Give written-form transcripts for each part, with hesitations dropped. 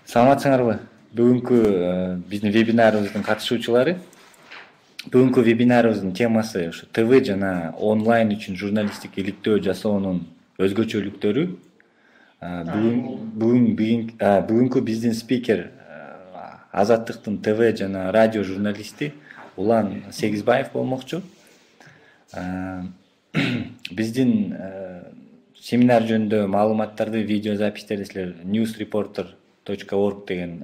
Саламатсыңарбы? Бүгүнкү биздин вебинарыбыздын катышуучулары. Бүгүнкү вебинарыбыздын темасы ушу ТВ жана онлайн үчүн журналисттик иликтөө жасоонун өзгөчөлүктөрү. Бүгүнкү биздин спикер Азаттыктын ТВ жана радио журналисти Улан Сегизбаев болмокчу. Биздин семинар жөнүндө маалыматтарды, видео запистерди силер newsreporter.org деген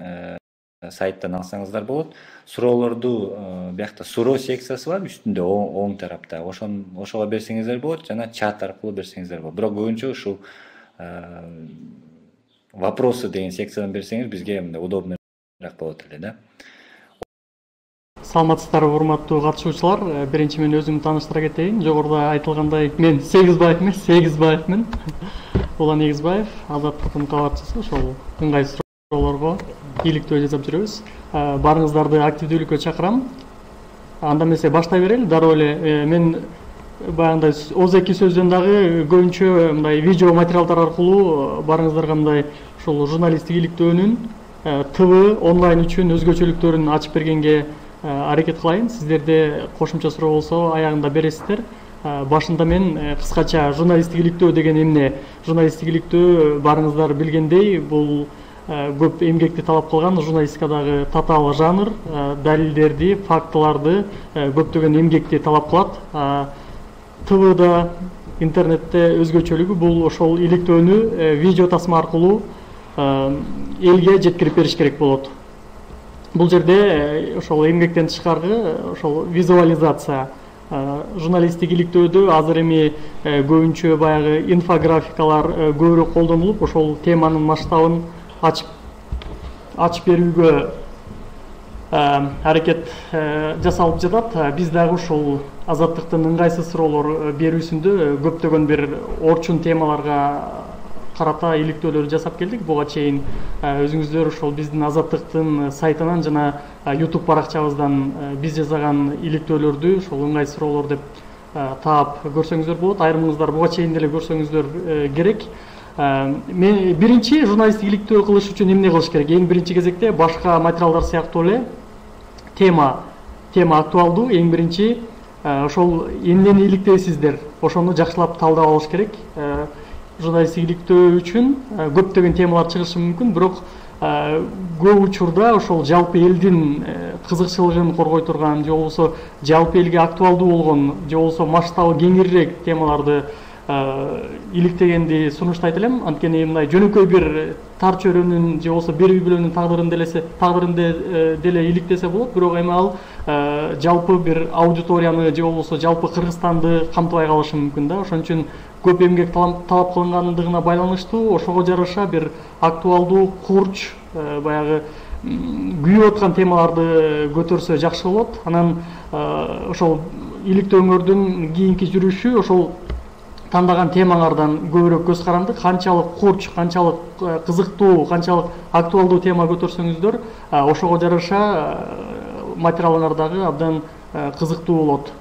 сайттан алсаңыздар болот. Суроолорду биякта суроо секциясы бар, үстүндө оң тарапта. Ошого берсеңиздер болот жана чат аркылуу берсеңиздер болот. Бирок көбүнчө ушул вопросы деген секциядан берсеңиз бизге мындай удобныйраак болот эле да. Саламатсыздарбы, урматтуу катышуучулар. Биринчи мен өзүмдү тааныштыра кетейин. Жогоруда айтылгандай, мен Сегизбаевмин. Улан Сегизбаев, Азаттыктын кабарчысы. Ошол ыңгайсыз суроолорго иликтөө жасап жүрөбүз. Барыңыздарды активдүүлүккө чакырам. Анда эмесе баштай берели. Дароо эле мен баягындай ооз-эки сөздөн дагы көбүнчө мындай видео материалдар аркылуу барыңыздарга мындай ушул журналисттик иликтөөнүн ТВ онлайн үчүн өзгөчөлүктөрүн ачып бергенге аракет кылайын. Сиздерде кошумча суроо болсо аягында бересиздер. Башында мен кыскача журналисттик иликтөө деген эмне? Журналисттик иликтөө барыңыздар билгендей, бул көп эмгекти талап кылган журналистикадагы татаал жанр, далилдерди, фактыларды, көптөгөн эмгекти талап кылат. ТВда, интернетте өзгөчөлүгү бул ошол иликтөөнү видео тасма аркылуу элге жеткирип бериш керек болот. Бул жерде ошол эмгектен тышкары ошол визуализация, журналисттик иликтөөдө азыр эми көбүнчө баягы инфографикалар көбүрөөк колдонулуп, ошол теманын масштабын ачып берүүгө аракет жасалып жатат. Биз дагы ушул Азаттыктын ыңгайсыз суроолор берүүсүндө көптөгөн бир орчун темаларга карата иликтөөлөр жасап келдик. Буга чейин өзүңүздөр ошол биздин Азаттыктын сайтынан жана YouTube баракчабыздан биз жасаган иликтөөлөрдү ошол ыңгайсыз суроолор деп таап көрсөңүздөр болот. Айрымыңыздар буга чейин деле көрсөңүздөр керек. Мен биринчи журналисттик иликтөө кылыш үчүн эмне кылыш керек? Эң биринчи кезекте башка материалдар сыяктуу эле тема актуалдуу. Эң биринчи ошол эмнени иликтейсиздер, ошону жакшылап талдап алыш керек. Журналисттик иликтөө үчүн көптөгөн темалар чыгышы мүмкүн, бирок көп учурда ошол жалпы элдин кызыкчылыгын коргой турган, же болбосо жалпы элге актуалдуу болгон, же болбосо масштабы кеңирээк темаларды иликтегенди сунуштайт элем. Анткени мындай жөнөкөй бир тар чөйрөнүн же болбосо бир үй бүлөнүн тагдырында деле иликтесе болот, бирок эми ал жалпы бир аудиторияны же болбосо жалпы Кыргызстанды камтыбай калышы мүмкүн да. Ошон үчүн көп эмгек талап кылынгандыгына байланыштуу ошого жараша бир актуалдуу, курч, баягы күйүп аткан темаларды көтөрсө жакшы болот. Анан ошол иликтөөңөрдүн кийинки жүрүшү ошол тандаган темаңардан көбүрөөк көз каранды, канчалык курч, канчалык кызыктуу, канчалык актуалдуу тема көтөрсөңүздөр, ошого жараша материалыңар дагы абдан кызыктуу болот.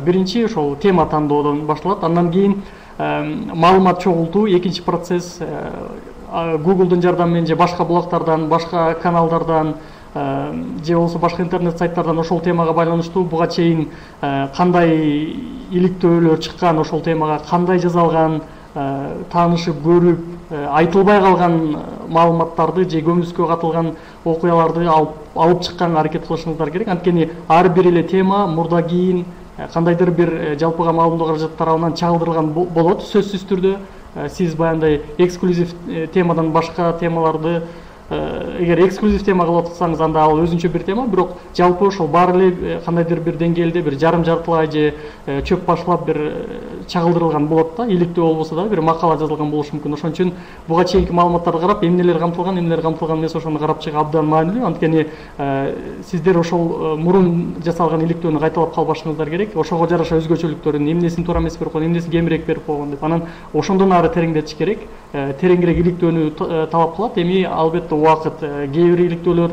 Биринчи ошол тема тандоодон башталат, андан кийин маалымат чогултуу, экинчи процесс Google'дун жардамы менен же башка блогтордон, башка каналдардан, же болбосо башка интернет сайттардан ошол темага байланыштуу буга чейин кандай иликтөөлөр чыккан, ошол темага кандай жазалган, таанышып көрүп, айтылбай калган маалыматтарды же көмүскө катылган окуяларды алып чыкканга аракет кылышыңыздар керек. Анткени ар бир эле тема мурда кийин кандайдыр бир жалпыга маалымдоо каражаты тарабынан чагылдырылган болот сөзсүз түрдө. Сиз баягындай эксклюзив темадан башка темаларды эгер эксклюзив тема кылып атсаңыз, анда ал өзүнчө бир тема, бирок жалпы ошол баары эле кандайдыр бир деңгээлде бир жарым жартылай же чөп башлап бир чагылдырылган болот да. Иликтөө болбосо дагы бир макала жазылган болушу мүмкүн. Ошон үчүн буга чейинки маалыматтарды карап, эмнелер камтылган эмес, ошону карап чыгып абдан маанилүү. Анткени сиздер ошол мурун жасалган иликтөөнү кайталап калбашыңыздар керек. Ошого жараша өзгөчөлүктөрүн, эмнесин туура эмес берип койгон, эмнесин кемирээк берип койгон деп. Анан ошондон ары тереңдетиш керек. Тереңирээк иликтөөнү талап кылат. Эми албетте убакыт, кээ бир иликтөөлөр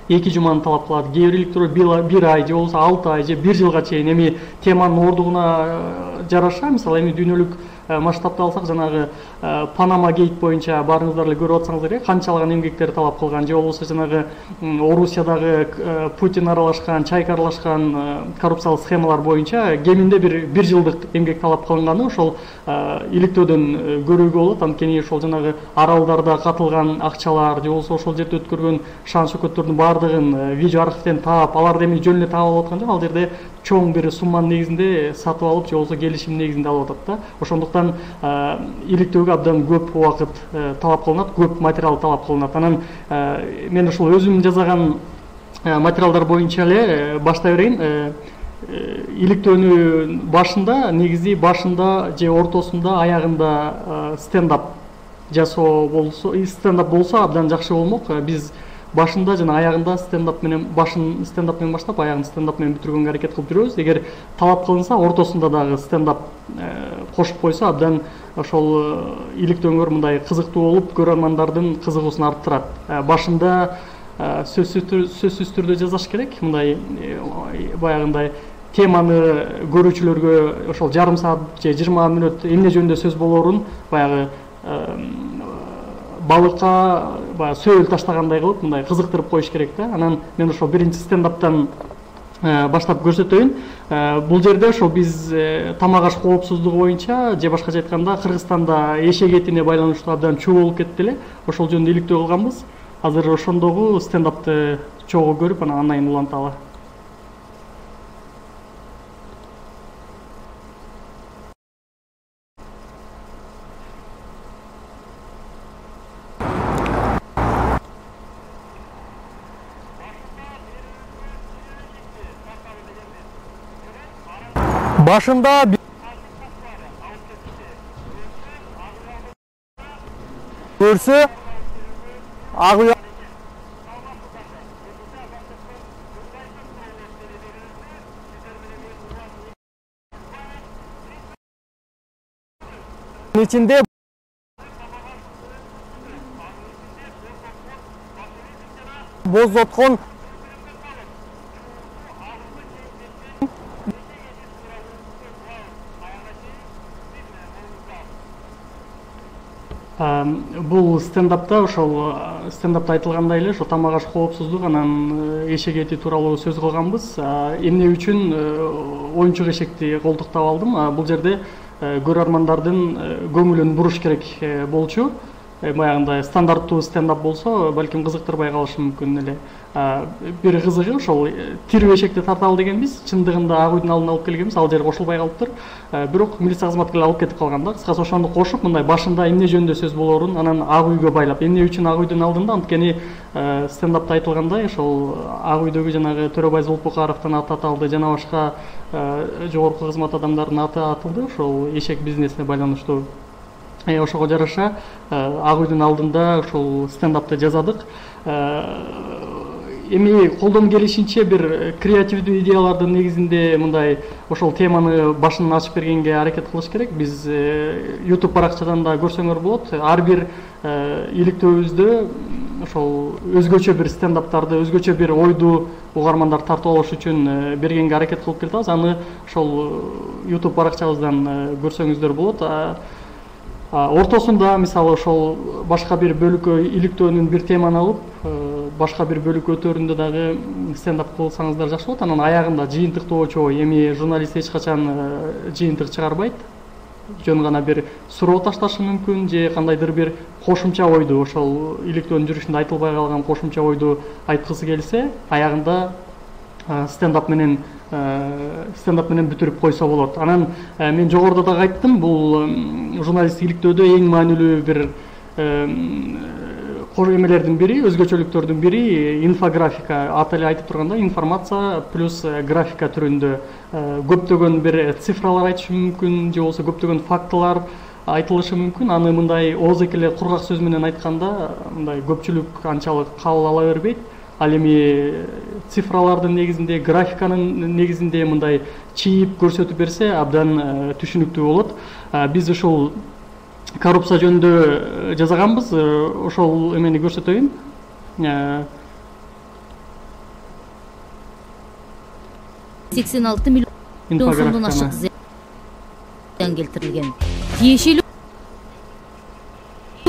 2 жуманы талап кылат, кээ бир иликтөөлөр 1 ай же болбосо 6 ай же 1 жылга чейин. Эми теманын ордугуна жараша, мисалы эми дүйнөлүк масштабты алсак, жанагы Панама гейт боюнча баарыңыздар эле көрүп атсаңыздар, канчалаган эмгектер талап кылган, же болбосо жанагы Орусиядагы Путин аралашкан, Чайка аралашкан коррупциялык схемалар боюнча кеминде бир жылдык эмгек талап кылынганы ошол иликтөөдөн көрүүгө болот. Анткени ошол жанагы аралдарда катылган акчалар, же болбосо ошол жерде өткөргөн шан шөкөттөрдүн баардыгын видео архивден таап, аларды эми жөн эле таап алып аткан жок, ал жерде чоң бир сумманын негизинде сатып алып, же болбосо келишим негизинде алып атат да. Ошондуктан иликтөөгө абдан көп убакыт талап кылынат, көп материал талап кылынат. Анан мен ушул өзүм жасаган материалдар боюнча эле баштай берейин. Иликтөөнүн башында, негизи башында же ортосунда, аягында стендап жасоо болсо, стендап болсо абдан жакшы болмок. Биз башында жана аягында стендап менен, башын стендап менен баштап, аягын стендап менен бүтүргөнгө аракет кылып жүрөбүз. Эгер талап кылынса, ортосунда дагы стендап кошуп койсо, абдан ошол иликтөөнгөр мындай кызыктуу болуп, көрөрмандардын кызыгуусун арттырат. Башында сөзсүз түрдө жасаш керек. Мындай баягындай теманы көрүүчүлөргө ошол жарым саат же 20 мүнөт эмне жөнүндө сөз болоорун баягы балыкка баягы сөөл таштагандай кылып мындай кызыктырып коюш керек да. Анан мен ошол биринчи стендаптан баштап көрсөтөйүн. Бул жерде ошол биз тамак аш коопсуздугу боюнча, же башкача айтканда Кыргызстанда эшек этине байланыштуу абдан чуу болуп кетти эле. Ошол жөнүндө иликтөө кылганбыз. Азыр ошондогу стендапты чогуу көрүп, анан айын уланталы. Башында көрсө ак уя ичинде боздоткон Бул стендапта ошол стендапта айтылгандай эле ошо тамак аш коопсуздук анан эшек эти тууралуу сөз кылганбыз. Эмне үчүн оюнчук эшекти колтуктап алдым? Бул жерде көрөрмандардын көңүлүн буруш керек болчу. Баягындай стандарттуу стендап болсо, балким кызыктырбай калышы мүмкүн эле. Бир кызыгы ошол тирүү эшекти тарталы дегенбиз, чындыгында ак үйдүн алдына алып келгенбиз, ал жер кошулбай калыптыр. Бирок милиция кызматкерлери алып кетип калган да. Кыскасы ошону кошуп, мындай башында эмне жөнүндө сөз болоорун анан ак үйгө байлап, эмне үчүн ак үйдүн алдында, анткени стендапта айтылгандай, ошол ак үйдөгү жанагы Төрөбай Зулпукаровдун аты аталды, жана башка жогорку кызмат адамдарынын аты атылды, ошол эшек бизнесине байланыштуу. Ошого жараша ак үйдүн алдында ошол стендапты жасадык. Эми колдон келишинче бир креативдүү идеялардын негизинде мындай ошол теманы башын ачып бергенге аракет кылыш керек. Биз YouTube баракчадан да көрсөңөр болот. Ар бир иликтөөбүздө ошол өзгөчө бир стендаптарды, өзгөчө бир ойду угармандар тартып алыш үчүн бергенге аракет кылып келатабыз. Аны ошол YouTube баракчабыздан көрсөңүздөр болот. Ортосунда мисалы ошол башка бир бөлүккө иликтөөнүн бир теманы алып, башка бир бөлүк өтөрүндө дагы стендап кылсаңыздар жакшы болот. Анан аягында жыйынтыктуу чогуу, эми журналист эч качан жыйынтык чыгарбайт. Жөн гана бир суроо ташташы мүмкүн, же кандайдыр бир кошумча ойду, ошол иликтөөнүн жүрүшүндө айтылбай калган кошумча ойду айткысы келсе, аягында стендап менен бүтүрүп койсо болот. Анан мен жогоруда дагы айттым, бул журналисттик иликтөөдө эң маанилүү бир эмелердин бири, өзгөчөлүктөрдүн бири инфографика. Аты эле айтып тургандай, информация плюс графика түрүндө көптөгөн бир цифралар айтышы мүмкүн, же болбосо көптөгөн фактылар айтылышы мүмкүн. Аны мындай оозеки эле кургак сөз менен айтканда, мындай көпчүлүк анчалык кабыл ала бербейт. Ал эми цифралардын негизинде, графиканын негизинде мындай чийип көрсөтүп берсе абдан түшүнүктүү болот. Биз ушул коррупция жөнүндө жасаганбыз, ошол эмени көрсөтөйүн. 86 миллион сомдон ашык зыян келтирилген. Тиешелүү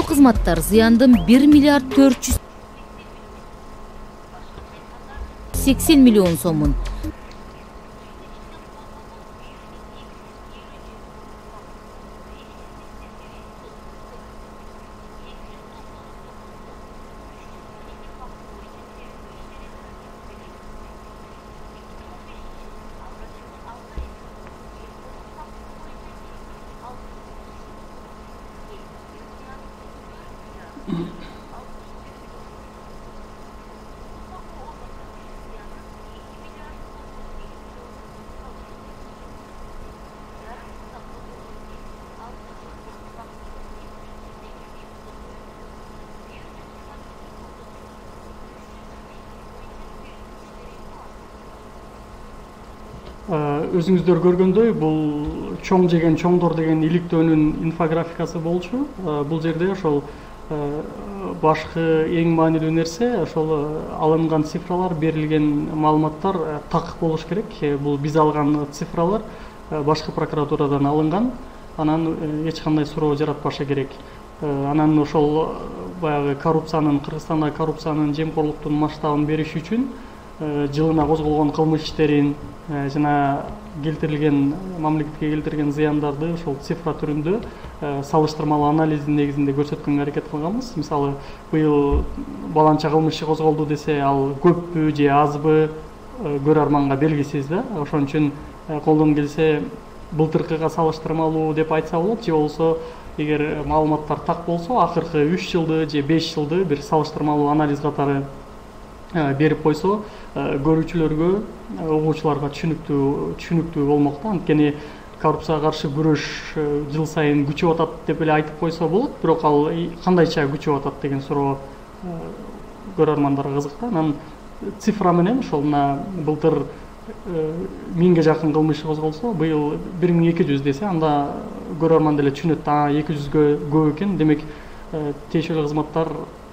кызматтар зыяндын 1 миллиард 480 миллион сомун өзүңүздөр көргөндөй бул чоң жеген чоңдор деген иликтөөнүн инфографикасы болчу. Бул жерде ошол башкы эң маанилүү нерсе ошол алынган цифралар, берилген маалыматтар так болуш керек. Бул биз алган цифралар башкы прокуратурадан алынган, анан эч кандай суроо жаратпашы керек. Анан ошол баягы коррупциянын, Кыргызстандагы коррупциянын, жемкорлуктун масштабын бериш үчүн жылына козголгон кылмыш иштерин жана келтирилген мамлекетке келтирген зыяндарды ошол цифра түрүндө салыштырмалуу анализдин негизинде көрсөткөнгө аракет кылганбыз. Мисалы, быйыл баланча кылмыш иши козголду десе, ал көппү же азбы көрөрманга белгисиз да. Ошон үчүн колдон келсе былтыркыга салыштырмалуу деп айтса болот, же болбосо эгер маалыматтар так болсо, акыркы 3 жылды же 5 жылды бир салыштырмалуу анализ катары берип койсо, көрүүчүлөргө, угуучуларга түшүнүктүү болмок да. Анткени коррупцияга каршы күрөш жыл сайын күчөп атат деп эле айтып койсо болот, бирок ал кандайча күчөп атат деген суроо көрөрмандарга кызык да. Анан цифра менен ошол мына былтыр 1000ге жакын кылмыш козголсо, быйыл 1200 десе, анда көрөрман деле түшүнөт да, 200гө көп экен, демек тиешелүү кызматтар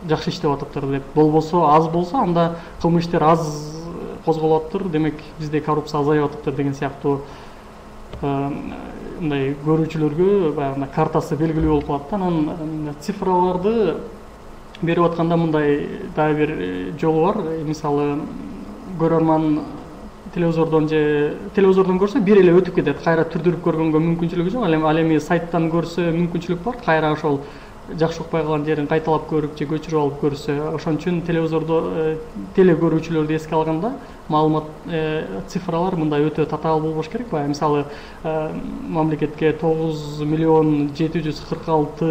жакшы иштеп атыптыр деп. Болбосо, аз болсо, анда кылмыш иштер аз козголуп атыптыр, демек бизде коррупция азайып атыптыр деген сыяктуу мындай көрүүчүлөргө баягы картасы белгилүү болуп калат да. Анан цифраларды берип атканда мындай дагы бир жолу бар. Мисалы, көрөрман телевизордон көрсө бир эле өтүп кетет, кайра түрдүрүп көргөнгө мүмкүнчүлүгү жок. Ал эми сайттан көрсө мүмкүнчүлүк бар, кайра ошол жакшы укпай калган жерин кайталап көрүп же көчүрүп алып көрсө. Ошон үчүн телевизордо теле көрүүчүлөрдү эске алганда маалымат цифралар мындай өтө татаал болбош керек. Баягы мисалы, мамлекетке 9 миллион 746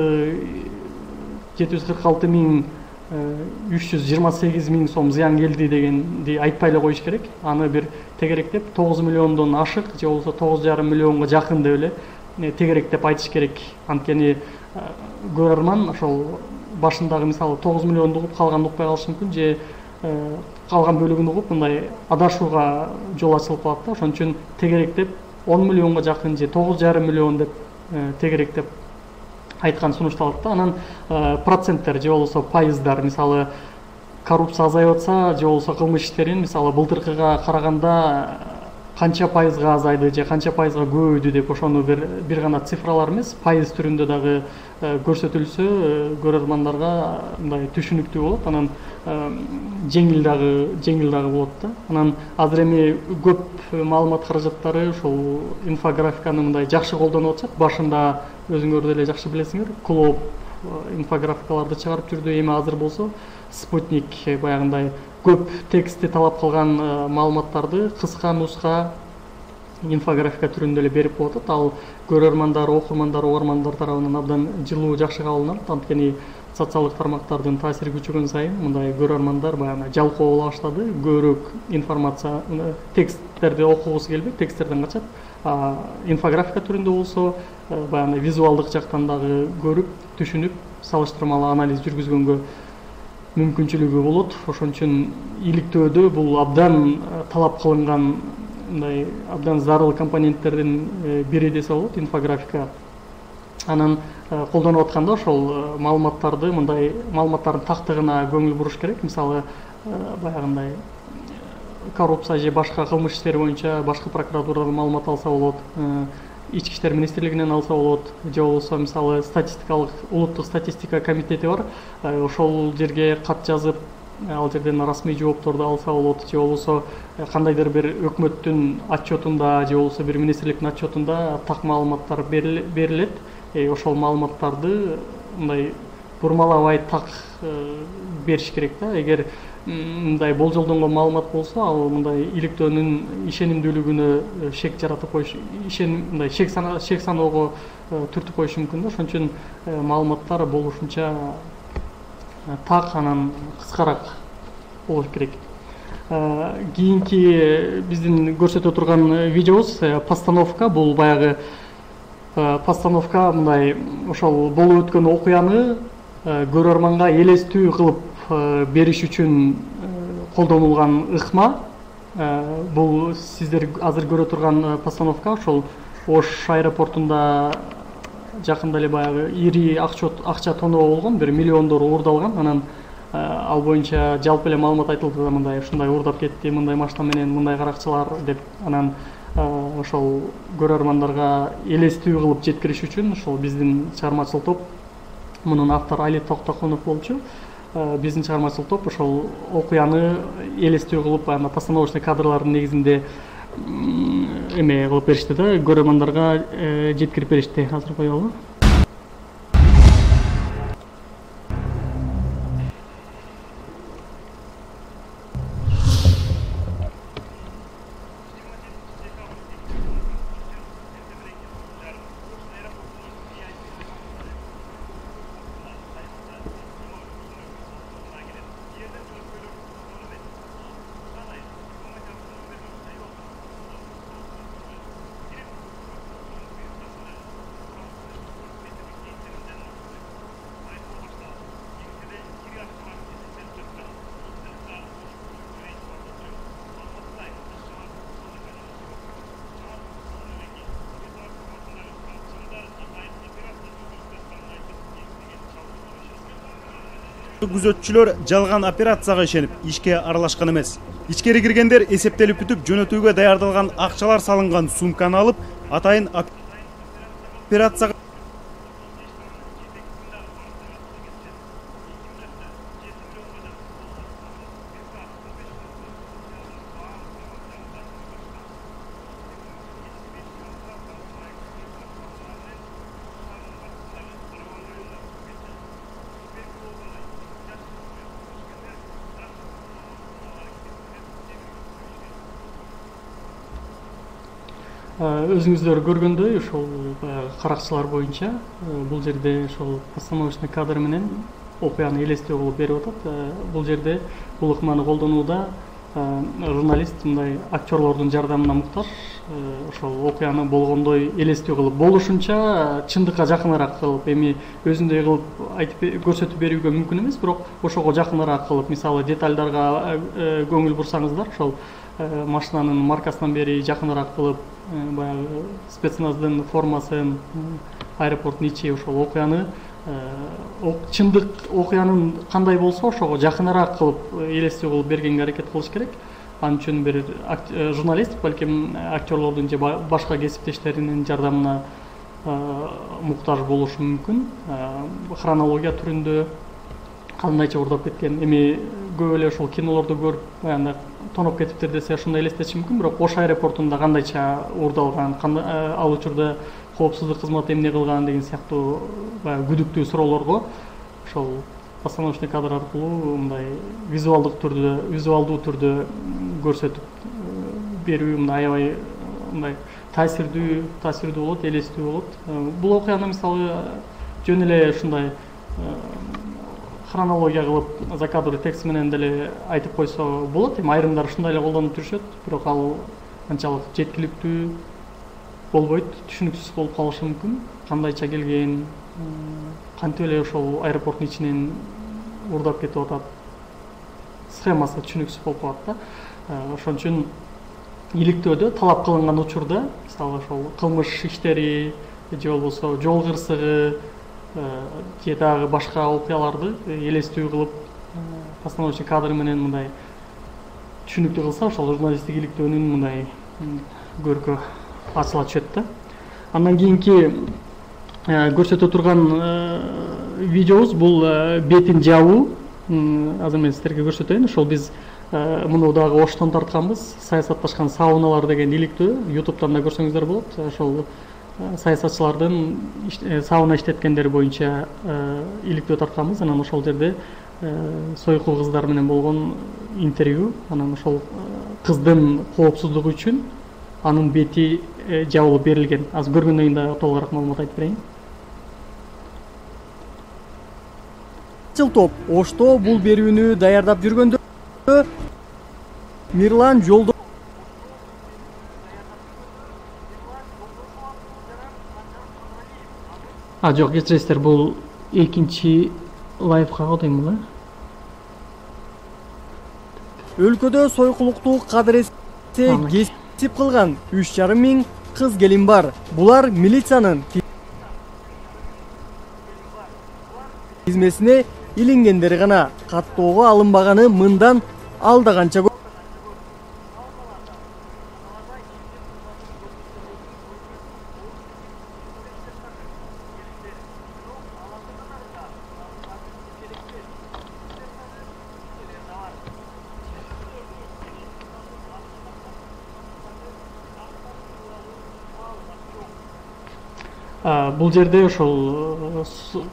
миң 328 миң сом зыян келди дегенди айтпай эле коюш керек. Аны бир тегеректеп 9 миллиондон ашык же болбосо 9,5 миллионго жакын деп эле тегеректеп айтыш керек. Анткени көрөрман ошол башындагы мисалы 9 миллионду угуп калганды укпай калышы мүмкүн, же калган бөлүгүн угуп мындай адашууга жол ачылып калат да. Ошон үчүн тегеректеп 10 миллионго жакын же 9,5 миллион деп тегеректеп айткан сунушталат да. Анан проценттер же болбосо пайыздар, мисалы коррупция азайып атса же болбосо кылмыш иштерин мисалы былтыркыга караганда канча пайызга азайды же канча пайызга көбөйдү деп ошону бир гана цифралар эмес, пайыз түрүндө дагы көрсөтүлсө көрөрмандарга мындай түшүнүктүү болот. Анан жеңил дагы болот да. Анан азыр эми көп маалымат каражаттары ушул инфографиканы мындай жакшы колдонуп атышат. Башында өзүңөр деле жакшы билесиңер, Клоп инфографикаларды чыгарып жүрдү. Эми азыр болсо Спутник баягындай көп текстти талап кылган маалыматтарды кыска нуска инфографика түрүндө эле берип коюп атат. Ал көрөрмандар, окурмандар, угармандар тарабынан абдан жылуу, жакшы кабылданат. Анткени социалдык тармактардын таасири күчөгөн сайын мындай көрөрмандар баягы жалкоо боло баштады. Көбүрөөк информация, тексттерди окугусу келбей, тексттерден качат. Инфографика түрүндө болсо баягы визуалдык жактан дагы көрүп, түшүнүп, салыштырмалуу анализ жүргүзгөнгө мүмкүнчүлүгү болот. Ошон үчүн иликтөөдө бул абдан талап кылынган, мындай абдан зарыл компоненттердин бири десе болот инфографика. Анан колдонуп атканда ошол маалыматтарды мындай маалыматтардын тактыгына көңүл буруш керек. Мисалы, баягындай коррупция же башка кылмыш иштери боюнча башкы прокуратурадан маалымат алса болот. ички иштер министрлигинен алса болот, же болбосо мисалы улуттук статистика комитети бар, ошол жерге кат жазып ал жерден расмий жоопторду алса болот, же болбосо кандайдыр бир өкмөттүн отчетунда же болбосо бир министрликтин отчетунда так маалыматтар берилет. Ошол маалыматтарды мындай бурмалабай так бериш керек да. Эгер мындай болжолдонгон маалымат болсо, ал мындай иликтөөнүн ишенимдүүлүгүнө шек жаратып коюш, мындай шек саноого түртүп коюшу мүмкүн да. Ошон үчүн маалыматтар болушунча так, анан кыскараак болуш керек. Кийинки биздин көрсөтө турган видеобуз постановка. Бул баягы постановка мындай ошол болуп өткөн окуяны көрөрманга элестүү кылып бериш үчүн колдонулган ыкма. Бул сиздер азыр көрө турган постановка ошол Ош аэропортунда жакында эле баягы ири акча тоноо болгон, бир миллиондор уурдалган. Анан ал боюнча жалпы эле маалымат айтылды да, мындай ушундай уурдап кетти, мындай машина менен, мындай каракчылар деп. Анан ошол көрөрмандарга элестүү кылып жеткириш үчүн ошол биздин чыгармачыл топ, мунун автору Али Токтокунов болчу. Биздин чыгармачыл топ ошол окуяны элестүү кылып, анда постановочный кадрлардын негизинде эме кылып беришти да, көрөрмандарга жеткирип беришти. Азыр коелу. Күзөтчүлөр жалган операцияга ишенип ишке аралашкан эмес. Ичкери киргендер эсептелип бүтүп, жөнөтүүгө даярдалган акчалар салынган сумканы алып, атайын операцияга өзүңүздөр көргөндөй, ошол каракчылар боюнча бул жерде ошол постановочный кадр менен окуяны элестөө кылып берип атат. Бул жерде бул ыкманы колдонууда журналист мындай актерлордун жардамына муктаж. Ошол окуяны болгондой элестөө кылып, болушунча чындыкка жакыныраак кылып, эми өзүндөй кылып айтып көрсөтүп берүүгө мүмкүн эмес, бирок ошого жакыныраак кылып, мисалы детальдарга көңүл бурсаңыздар, ошол машинанын маркасынан бери жакыныраак кылып, баягы спецназдын формасын, аэропорттун ичи, ошол окуяны чындык окуянын кандай болсо ошого жакыныраак кылып элестүү кылып бергенге аракет кылыш керек. Ал үчүн бир журналист, балким актерлордун же башка кесиптештеринин жардамына муктаж болушу мүмкүн. Хронология түрүндө кандайча уурдап кеткен, эми көп эле ошол кинолорду көрүп аянда тоноп кетиптир десе ошондой элестетиши мүмкүн, бирок Ош аэропортунда кандайча уурдалган, ал учурда коопсуздук кызматы эмне кылган деген сыяктуу баягы күдүктүү суроолорго ошол постановочный кадр аркылуу мындай визуалдуу түрдө көрсөтүп берүү мындай аябай мындай таасирдүү болот, элестүү болот. Бул окуяны мисалы жөн эле ушундай хронология кылып закадрлы текст менен деле айтып койсо болот. Эми айрымдар ушундай эле колдонуп жүрүшөт, бирок ал анчалык жеткиликтүү болбойт, түшүнүксүз болуп калышы мүмкүн. Кандайча келген, кантип эле ошол аэропорттун ичинен уурдап кетип атат, схемасы түшүнүксүз болуп калат да. Ошон үчүн иликтөөдө талап кылынган учурда, мисалы ошол кылмыш иштери же болбосо жол кырсыгы же дагы башка окуяларды элестүү кылып постановочный кадр менен мындай түшүнүктүү кылса, ошол журналисттик иликтөөнүн мындай көркү ачыла түшөт да. Андан кийинки көрсөтө турган видеобуз бул бетин жабуу. Азыр мен сиздерге көрсөтөйүн. Ошол биз муну дагы Оштон тартканбыз. Саясатташкан сауналар деген иликтөө. YouTube'дан да көрсөңүздөр болот. Ошол саясатчылардын сауна иштеткендери боюнча иликтөө тартканбыз. Анан ошол жерде сойку кыздар менен болгон интервью. Анан ошол кыздын коопсуздугу үчүн анын бети жабылып берилген. Азыр көргөндөн кийин да толугураак маалымат айтып берейин. Топ Ошто бул берүүнү даярдап жүргөндө Мирлан Жолдо Жок, кечиресиздер, бул экинчи лайфка дейм бул. өлкөдө сойкулукту кадыресе кесип кылган 3,5 миң кыз келин бар. Булар милициянын тизмесине илингендери гана, каттоого алынбаганы мындан алда канча көп. Бул жерде ошол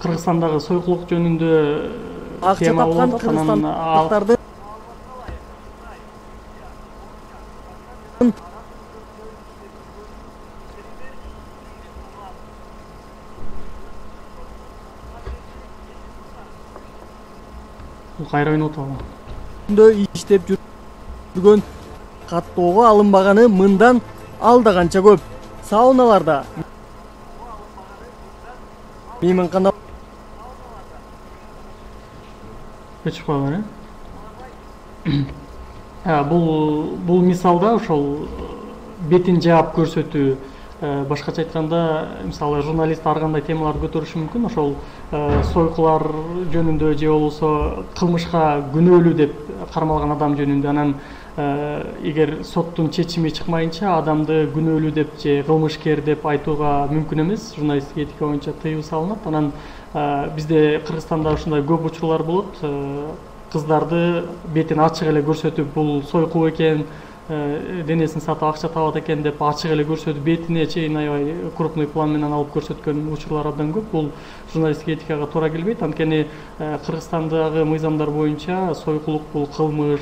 Кыргызстандагы сойкулук жөнүндө Акча тапкан кыргызстандыктарды кайра ойноп атабы. иштеп жүргөн, каттоого алынбаганы мындан алда канча көп. Сауналарда мейманкана өчүп калган. Бул мисалда ошол бетин жаап көрсөтүү, башкача айтканда, мисалы журналист ар кандай темаларды көтөрүшү мүмкүн. Ошол сойкулар жөнүндө же болбосо кылмышка күнөөлүү деп кармалган адам жөнүндө. Анан эгер соттун чечими чыкмайынча адамды күнөөлүү деп же кылмышкер деп айтууга мүмкүн эмес. Журналисттик этика боюнча тыюу салынат. Анан бизде Кыргызстанда ушундай көп учурлар болот. Кыздарды бетин ачык эле көрсөтүп, бул сойкуу экен, денесин сатып акча табат экен деп ачык эле көрсөтүп, бетине чейин аябай крупный план менен алып көрсөткөн учурлар абдан көп. Бул журналисттик этикага туура келбейт. Анткени Кыргызстандагы мыйзамдар боюнча сойкулук бул кылмыш,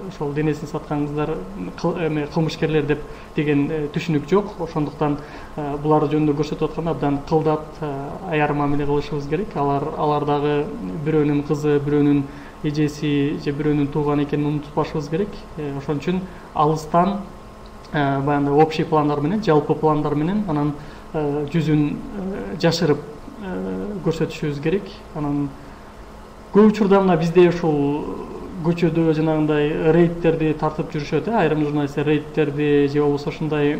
ошол денесин саткан кыздар кылмышкерлер деп деген түшүнүк жок. Ошондуктан булар жөнүндө көрсөтүп атканда абдан кылдат, аяр мамиле кылышыбыз керек. Алар дагы бирөөнүн кызы, бирөөнүн эжеси же бирөөнүн тууганы экенин унутпашыбыз керек. Ошон үчүн алыстан баягы общий пландар менен, жалпы пландар менен анан жүзүн жашырып көрсөтүшүбүз керек. Анан көп учурда мына бизде ушул көчөдө жанагындай рейдтерди тартып жүрүшөт. Айрым журналисттер рейдтерди же болбосо ушундай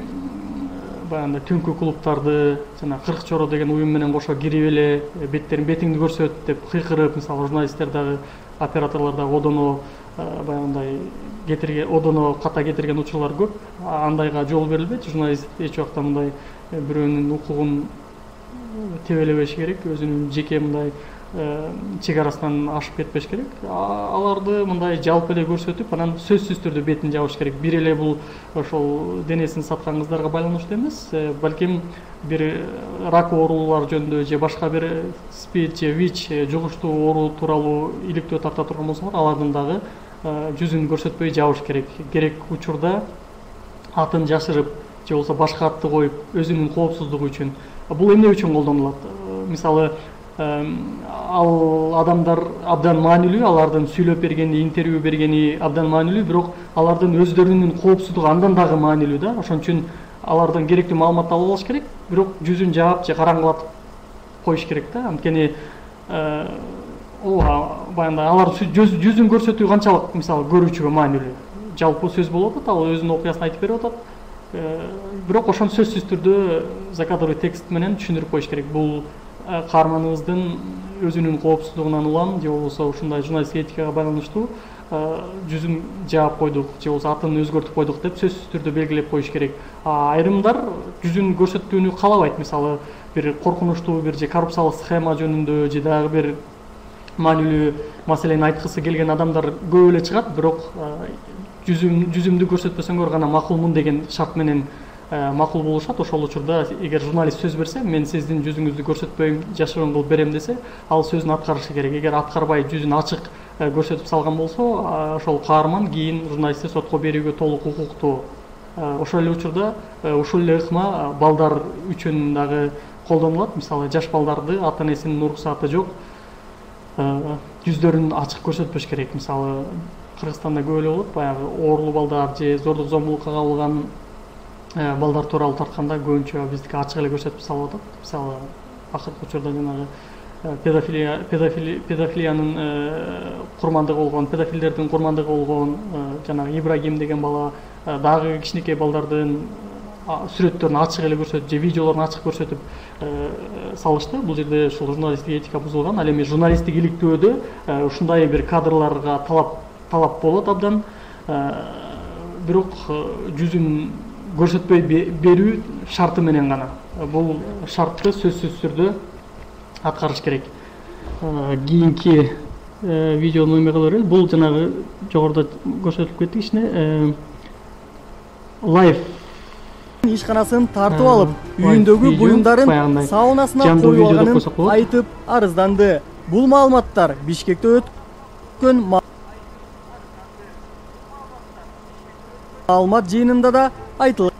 баягы түнкү клубтарды, жана 40 чоро деген уюм менен кошо кирип эле бетиңди көрсөт деп кыйкырып, мисалы журналисттер дагы, операторлор дагы одоно баягындай одоно ката кетирген учурлар көп. Андайга жол берилбейт. Журналист эч убакта мындай бирөөнүн укугун тебелебеш керек, өзүнүн жеке мындай чек арасынан ашып кетпеш керек. Аларды мындай жалпы эле көрсөтүп, анан сөзсүз түрдө бетин жабыш керек. Бир эле бул ошол денесин саткан кыздарга байланыштуу эмес, балким бир рак оорулар жөнүндө же башка бир СПИД же ВИЧ жугуштуу оору тууралуу иликтөө тарта турган болсоңор, алардын дагы жүзүн көрсөтпөй жабыш керек. Керек учурда атын жашырып же болбосо башка атты коюп, өзүнүн коопсуздугу үчүн. Бул эмне үчүн колдонулат? Мисалы, ал адамдар абдан маанилүү, алардын сүйлөп бергени, интервью бергени абдан маанилүү, бирок алардын өздөрүнүн коопсуздугу андан дагы маанилүү да. Ошон үчүн алардан керектүү маалыматты алып алыш керек, бирок жүзүн жаап же караңгылатып коюш керек да. Анткени баягы алар жүзүн көрсөтүү канчалык мисалы көрүүчүгө маанилүү. Жалпы сөз болуп атат, ал өзүнүн окуясын айтып берип атат. Бирок ошону сөзсүз түрдө закадровый текст менен түшүндүрүп коюш керек. Бул каарманыбыздын өзүнүн коопсуздугунан улам же болбосо ушундай журналисттик этикага байланыштуу жүзүн жаап койдук же болбосо атын өзгөртүп койдук деп сөзсүз түрдө белгилеп коюш керек. Айрымдар жүзүн көрсөтүүнү каалабайт. Мисалы бир коркунучтуу бир же коррупциялык схема жөнүндө же дагы бир маанилүү маселени айткысы келген адамдар көп эле чыгат, бирок жүзүмдү көрсөтпөсөңөр гана макулмун деген шарт менен макул болушат. Ошол учурда эгер журналист сөз берсе, мен сиздин жүзүңүздү көрсөтпөйм, жашыруун кылып берем десе, ал сөзүн аткарышы керек. Эгер аткарбай жүзүн ачык көрсөтүп салган болсо, ошол каарман кийин журналистти сотко берүүгө толук укуктуу. Ошол эле учурда ушул эле ыкма балдар үчүн дагы колдонулат. Мисалы жаш балдарды ата энесинин уруксааты жок жүздөрүн ачык көрсөтпөш керек. Мисалы Кыргызстанда көп эле болот, баягы оорулуу балдар же зордук зомбулукка кабылган балдар тууралуу тартканда көбүнчө биздики ачык эле көрсөтүп салып атат. Мисалы акыркы учурда жанагы педофилиянын курмандыгы болгон, педофилдердин курмандыгы болгон жанагы Ибрагим деген бала дагы кичинекей балдардын сүрөттөрүн ачык эле көрсөтүп же видеолорун ачык көрсөтүп салышты. Бул жерде ушул журналисттик этика бузулган. Ал эми журналисттик иликтөөдө ушундай бир кадрларга талап болот абдан. Бирок жүзүн көрсөтпөй берүү шарты менен гана. Бул шартты сөзсүз түрдө аткарыш керек. Кийинки видеону эме кыла берели. Бул жанагы жогоруда көрсөтүлүп кетти кичине лайф ишканасын тартып алып, үйүндөгү буюмдарын саунасына коюп алганын айтып арызданды. Бул маалыматтар Бишкекте өткөн маалымат жыйынында да айтылды.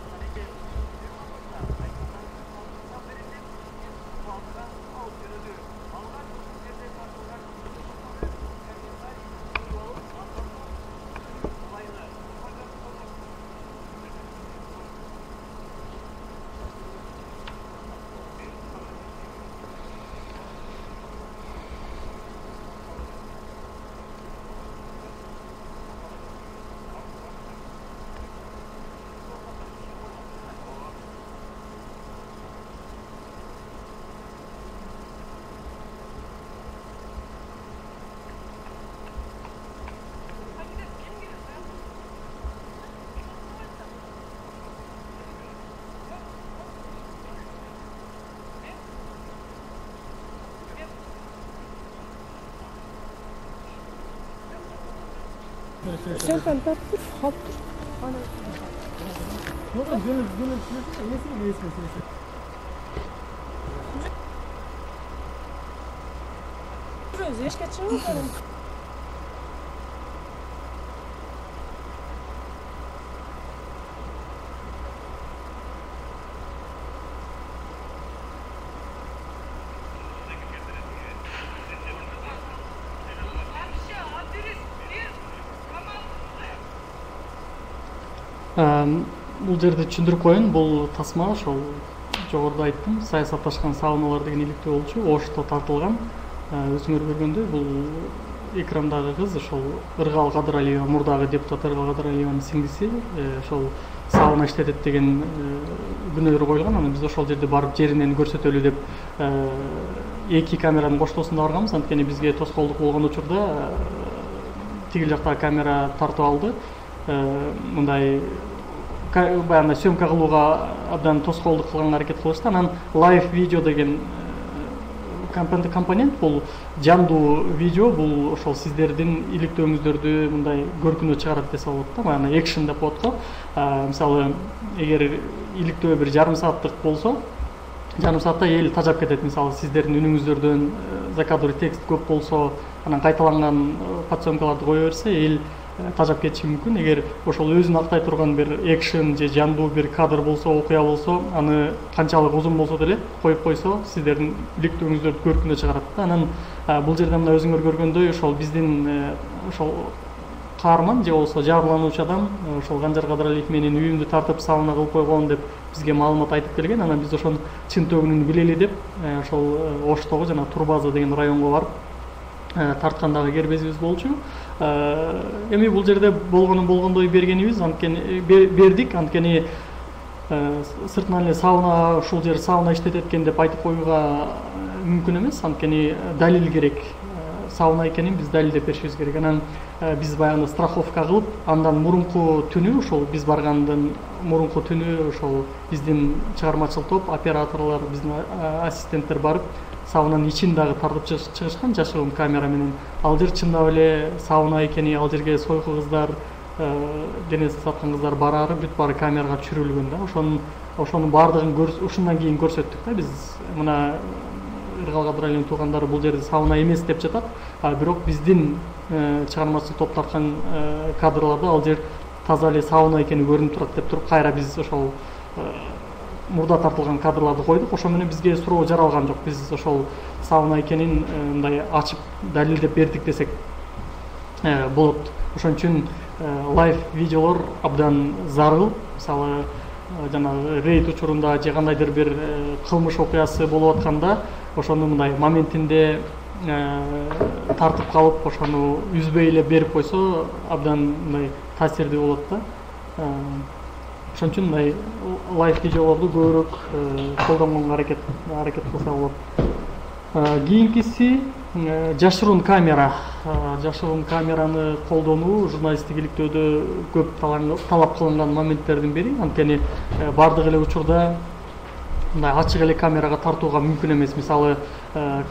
Sen kaldır, hop. Özleşke çıkıyor. Бул жерде түшүндүрүп коеюн, бул тасма ошол жогоруда айттым, саясатташкан сауналар деген иликтөө болчу, Ошто тартылган. Өзүңөр көргөндөй, бул экрандагы кыз ошол Ыргал Кадыралиева, мурдагы депутат Ыргал Кадыралиеванын сиңдиси, ошол сауна иштетет деген күнөөлөр коюлган. Анан биз ошол жерде барып жеринен көрсөтөлү деп эки камеранын коштоосунда барганбыз. Анткени бизге тоскоолдук болгон учурда тигил жактагы камера тартып алды. Мындай баягы съемка кылууга абдан тоскоолдук кылганга аракет кылышты. Анан лайв видео деген компонент, бул жандуу видео, бул ошол сиздердин иликтөөңүздөрдү мындай көркүнө чыгарат десе болот да, баягы экшен деп коет го. Мисалы эгер иликтөө бир жарым сааттык болсо, жарым саатта эл тажап кетет. Мисалы сиздердин үнүңүздөрдөн закадровый текст көп болсо, анан кайталанган подсъемкаларды кое берсе, эл тажап кетиши мүмкүн. Эгер ошол өзүн актай турган бир экшен же жандуу бир кадр болсо, окуя болсо, аны канчалык узун болсо деле коюп койсо, сиздердин иликтөөңүздөрдү көркүнө чыгарат да. Анан бул жерде мына өзүңөр көргөндөй, ошол биздин ошол каарман же болбосо жабырлануучу адам ошол Канжар Кадыралиев менин үйүмдү тартып сауна кылып койгон деп бизге маалымат айтып келген. Анан биз ошонун чын төгүнүн билели деп ошол Оштогу жана Турбаза деген районго барып тарткандагы кербезибиз болчу. Эми бул жерде болгондой бергенибиз, анткени бердик, анткени сыртынан эле сауна, ушул жер сауна иштетет экен деп айтып коюуга мүмкүн эмес, анткени далил керек. Сауна экенин биз далилдеп беришибиз керек. Анан биз баягы страховка кылып, андан мурунку түнү, ошол биз баргандан мурунку түнү ошол биздин чыгармачыл топ, операторлор, биздин ассистенттер барып, саунанын ичин дагы тартып чыгышкан жашыруун камера менен. Ал жер чындап эле сауна экени, ал жерге сойку кыздар, денесин саткан кыздар бараары бүт баары камерага түшүрүлгөн да. Ошонун баардыгын ушундан кийин көрсөттүк да. Биз мына Ыргал Кадыр Алиевдин туугандары бул жерде сауна эмес деп жатат, бирок биздин чыгармачыл топ тарткан кадрларда ал жер таза эле сауна экени көрүнүп турат деп туруп, кайра биз ошол мурда тартылган кадрларды койдук. Ошо менен бизге суроо жаралган жок. Биз ошол сауна экенин мындай ачып далилдеп бердик десек болот. Ошон үчүн лайв видеолор абдан зарыл. Мисалы, жанагы рейд учурунда же кандайдыр бир кылмыш окуясы болуп атканда, ошону мындай моментинде тартып калып, ошону үзбөй эле берип койсо абдан мындай таасирдүү болот да. Ошон үчүн мындай лайв видеолорду көбүрөөк колдонгонго аракет кылса болот. Кийинкиси жашыруун камера. Жашыруун камераны колдонуу журналисттик иликтөөдө көп талап кылынган моменттердин бири. Анткени бардык эле учурда мындай ачык эле камерага тартууга мүмкүн эмес. Мисалы,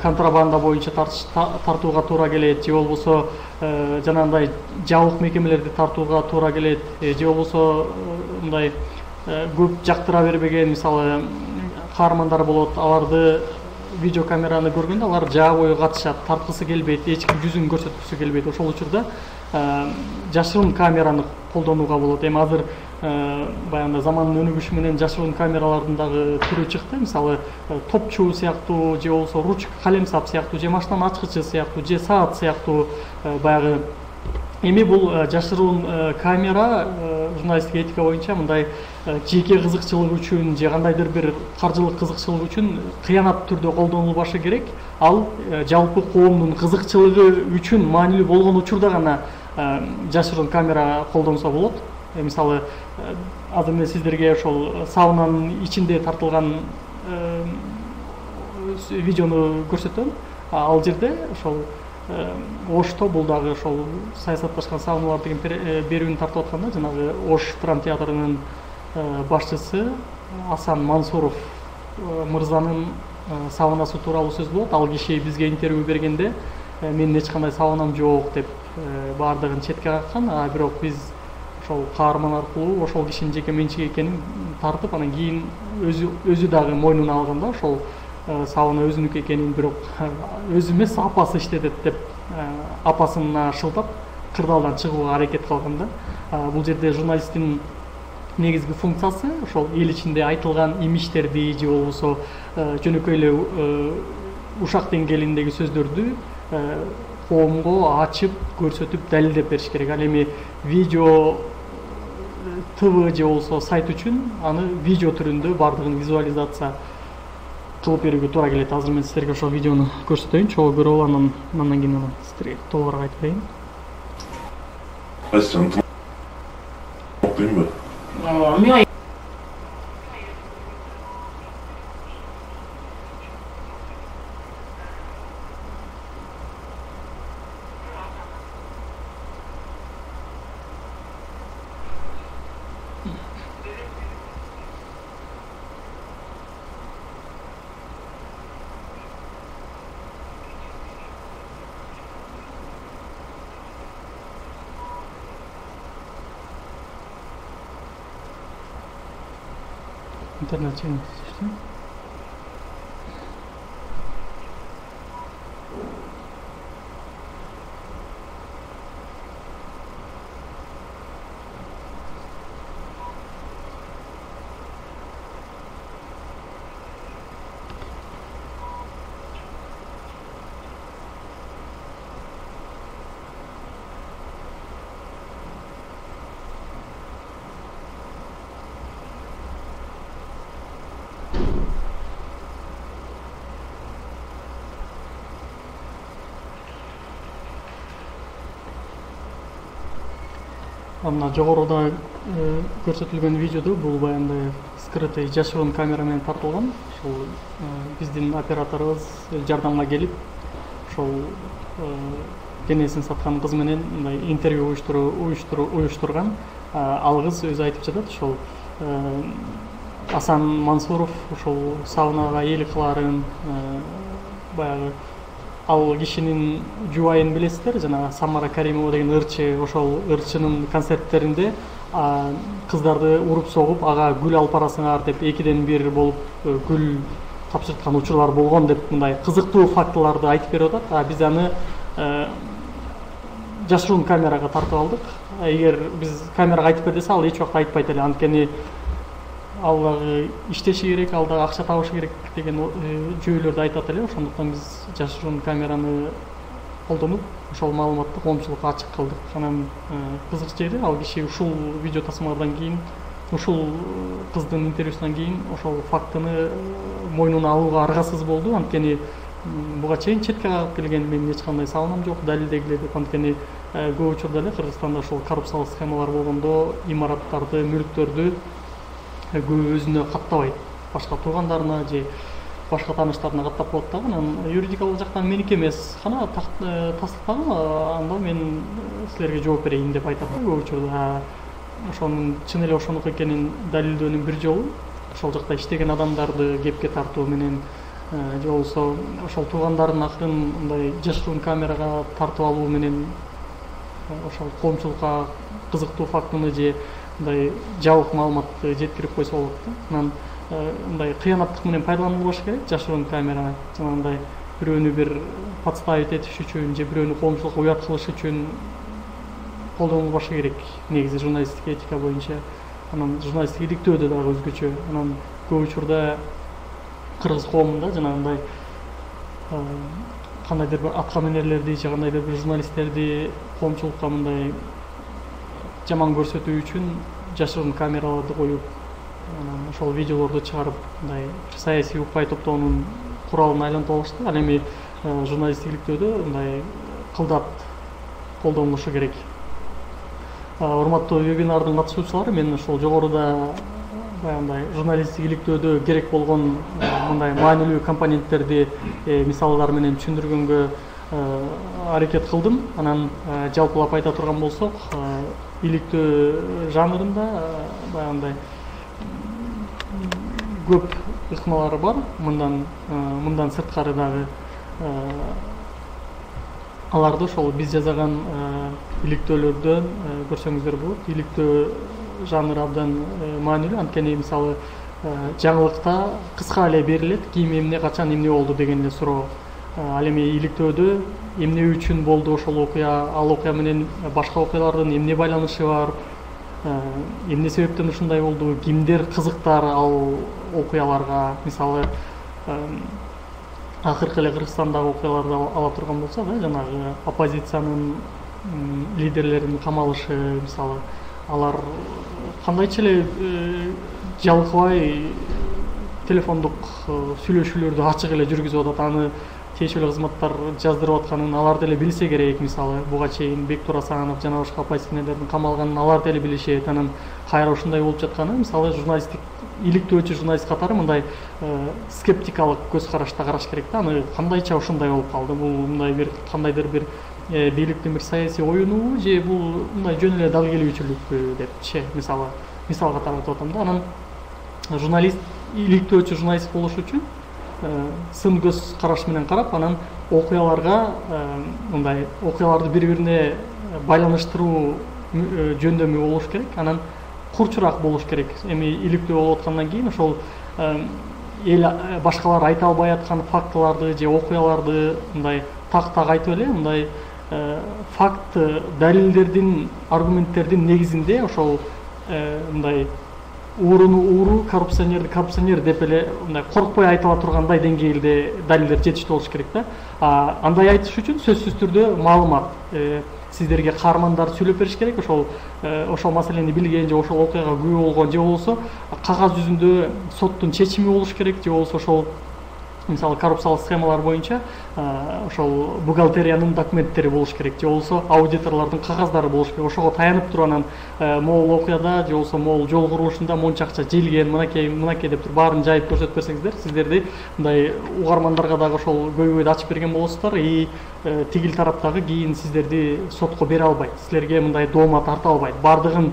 контрабанда боюнча тартууга туура келет, же болбосо жанагындай жабык мекемелерди тартууга туура келет, же болбосо мындай көп жактыра бербеген, мисалы, каармандар болот. Аларды видеокамераны көргөндө алар жаа бою катышат, тарткысы келбейт, эч ким жүзүн көрсөткүсү келбейт. Ошол учурда жашыруун камераны колдонууга болот. Эми азыр баягы замандын өнүгүшү менен жашыруун камералардын дагы түрү чыкты. Мисалы, топчу сыяктуу, же болбосо ручка, калемсап сыяктуу, же машинанын ачкычы сыяктуу, же саат сыяктуу баягы. Эми бул жашыруун камера журналисттик этика боюнча мындай жеке кызыкчылык үчүн же кандайдыр бир каржылык кызыкчылык үчүн кыянат түрдө колдонулбашы керек. Ал жалпы коомдун кызыкчылыгы үчүн маанилүү болгон учурда гана жашыруун камера колдонсо болот. Мисалы, азыр мен сиздерге ошол саунанын ичинде тартылган видеону көрсөтөм. Ал жерде ошол Ошто бул дагы ошол саясатташкан сауналар деген берүүнү тартып атканда, жанагы Ош драмтеатрынын башчысы Асан Мансуров мырзанын саунасы тууралуу сөз болот. Ал киши бизге интервью бергенде менин эч кандай саунам жок деп баардыгын четке каккан, бирок биз ошол каарман аркылуу ошол кишинин жеке менчиги экенин тартып, анан кийин өзү дагы мойнуна алганда ошол сауна өзүнүкү экенин, бирок өзү эмес апасы иштетет деп апасына шылтап кырдаалдан чыгууга аракет кылган да. Бул жерде журналисттин негизги функциясы ошол эл ичинде айтылган имичтерди же болбосо жөнөкөй эле ушак деңгээлиндеги сөздөрдү коомго ачып көрсөтүп далилдеп бериш керек. Ал эми видео ТВ же болбосо сайт үчүн аны видео түрүндө бардыгын визуализация кылып берүүгө туура келет. Азыр мен сиздерге ошол видеону көрсөтөйүн, чогуу көрүп алып, андан кийин сиздерге толугураак айтып берейин. Интернет чейин түштү. Мына жогоруда көрсөтүлгөн видеодо бул баягындай скрытый жашыруун камера менен тартылган. ошол биздин операторубуз жардамга келип ошол денесин саткан кыз менен мындай интервью уюштурган. Ал кыз өзү айтып жатат, ошол Асан Мансуров ошол саунага ээлик кылаарын, баягы ал кишинин жубайын билесиздер, жана Самара Каримова деген ырчы, ошол ырчынын концерттеринде кыздарды уруп согуп, ага гүл алып барасыңар деп 2-1 болуп гүл тапшырткан учурлар болгон деп мындай кызыктуу фактыларды айтып берип атат. Биз аны жашыруун камерага тартып алдык. Эгер биз камерага айтып бер десе, ал эч убакта айтпайт эле, анткени ал дагы иштеши керек, ал дагы акча табышы керек деген жүйөлөрдү айтат эле. Ошондуктан биз жашыруун камераны колдонуп, ошол маалыматты коомчулукка ачык кылдык. Анан кызык жери, ал киши ушул видео тасмадан кийин, ушул кыздын интервьюсунан кийин ошол фактыны мойнуна алууга аргасыз болду. Анткени буга чейин четке кагып келген, менин эч кандай салынам жок, далилдегиле деп. Анткени көп учурда эле Кыргызстанда ошол коррупциялык схемалар болгондо имараттарды, мүлктөрдү көбү өзүнө каттабайт, башка туугандарына же башка тааныштарына каттап коет дагы. Анан юридикалык жактан меники эмес, кана тастыктагы, анда мен силерге жооп берейин деп айтат көп учурда. Ошонун чын эле ошонуку экенин далилдөөнүн бир жолу ошол жакта иштеген адамдарды кепке тартуу менен же болбосо ошол туугандардын акырын мындай жашыруун камерага тартып алуу менен ошол коомчулукка кызыктуу фактыны же мындай жабык маалыматты жеткирип койсо болот да. Анан мындай кыянаттык менен пайдаланылбаш керек жашыруун камера. Жанагындай бирөөнү бир подставить этиш үчүн же бирөөнү коомчулукка уят кылыш үчүн колдонулбашы керек. Негизи журналисттик этика боюнча. Анан журналисттик иликтөөдө дагы өзгөчө. Анан көп учурда кыргыз коомунда жанагындай кандайдыр бир атка минерлерди же кандайдыр бир журналисттерди коомчулукка мындай жаман көрсөтүү үчүн жашыруун камераларды коюп, анан ошол видеолорду чыгарып, мындай саясий укпай топтоонун куралына айлантып алышты. Ал эми журналисттик иликтөөдө мындай кылдат колдонулушу керек. Урматтуу вебинардын катышуучулары, мен ошол жогоруда баягындай журналисттик иликтөөдө керек болгон мындай маанилүү компоненттерди мисалдар менен түшүндүргөнгө аракет кылдым. Анан жалпылап айта турган болсок, иликтөө жанрында баягындай көп ыкмалар бар. Мындан сырткары дагы аларды ошол биз жасаган иликтөөлөрдөн көрсөңүздөр болот. Иликтөө жанры абдан маанилүү, анткени мисалы жаңылыкта кыска эле берилет, ким эмне качан эмне болду деген эле суроо. Ал эми иликтөөдө эмне үчүн болду ошол окуя, ал окуя менен башка окуялардын эмне байланышы бар, эмне себептен ушундай болду, кимдер кызыктар ал окуяларга. Мисалы акыркы эле Кыргызстандагы окуяларды ала турган болсок, жанагы оппозициянын лидерлеринин камалышы, мисалы алар кандайча эле жалкыбай телефондук сүйлөшүүлөрдү ачык эле жүргүзүп атат. Аны тиешелүү кызматтар жаздырып атканын алар деле билсе керек. Мисалы буга чейин Бектур Асанов жана башка оппозиционерлердин камалганын алар деле билишет. Анан кайра ушундай болуп жатканы, мисалы журналисттик иликтөөчү журналист катары мындай скептикалык көз карашта караш керек да. Аны кандайча ушундай болуп калды, бул мындай бир кандайдыр бир бийликтин бир саясий оюнубу же бул мындай жөн эле дал келүүчүлүкпү депчи, мисал катары айтып атам да. Анан журналист, иликтөөчү журналист болуш үчүн сын көз караш менен карап, анан окуяларга мындай окуяларды бири-бирине байланыштыруу жөндөмү болуш керек. Анан курчураак болуш керек. Эми иликтөө болуп аткандан кийин ошол эл башкалар айта албай аткан фактыларды же окуяларды мындай так айтып эле, мындай факт, далилдердин, аргументтердин негизинде ошол мындай ууруну ууру, коррупционерди коррупционер деп эле мындай коркпой айтыла тургандай деңгээлде далилдер жетиштүү болуш керек да. Андай айтыш үчүн сөзсүз түрдө маалымат сиздерге каармандар сүйлөп бериш керек. Ошол маселени билген же ошол окуяга күбө болгон же болбосо кагаз жүзүндө соттун чечими болуш керек, же болбосо ошол мисалы коррупциялык схемалар боюнча ошол бухгалтериянын документтери болуш керек, же болбосо аудиторлордун кагаздары болуш керек. Ошого таянып туруп анан могул окуяда же болбосо могул жол курулушунда монча акча желген, мынакей деп туруп баарын жайып көрсөтүп берсеңиздер, сиздерди мындай угармандарга дагы ошол көйгөйдү ачып берген болосуздар. Тигил тараптагы кийин сиздерди сотко бере албайт, силерге мындай доома тарта албайт. Бардыгын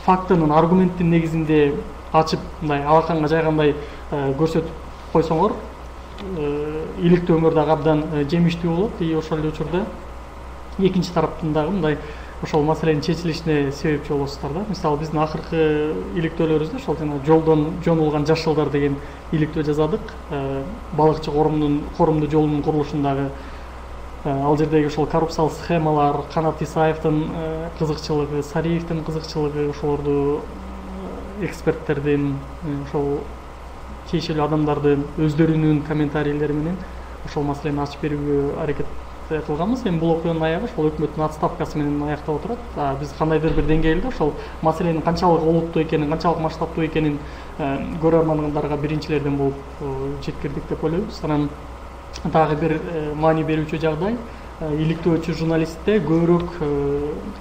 фактынын, аргументтин негизинде ачып, мындай алаканга жайгандай көрсөтүп койсоңор, иликтөөңөр дагы абдан жемиштүү болот. Ошол эле учурда экинчи тараптын дагы мындай ошол маселенин чечилишине себепчи болосуздар да. Мисалы биздин акыркы иликтөөлөрүбүздө ошол жана жолдон жонулган жаш жылдар деген иликтөө жазадык. Балыкчы корумдуу жолунун курулушундагы ал жердеги ошол коррупциялык схемалар, Канат Исаевдин кызыкчылыгы, Сариевдин кызыкчылыгы, ошолорду эксперттердин, ошол тиешелүү адамдардын өздөрүнүн комментарийлери менен ошол маселени ачып берүүгө аракет кылганбыз. Эми бул окуянын аягы ошол өкмөттүн отставкасы менен аяктап отурат. Биз кандайдыр бир деңгээлде ошол маселенин канчалык олуттуу экенин, канчалык масштабтуу экенин көрөрмандарга биринчилерден болуп жеткирдик деп ойлойбуз. Анан дагы бир маани берүүчү жагдай, иликтөөчү журналистте көбүрөөк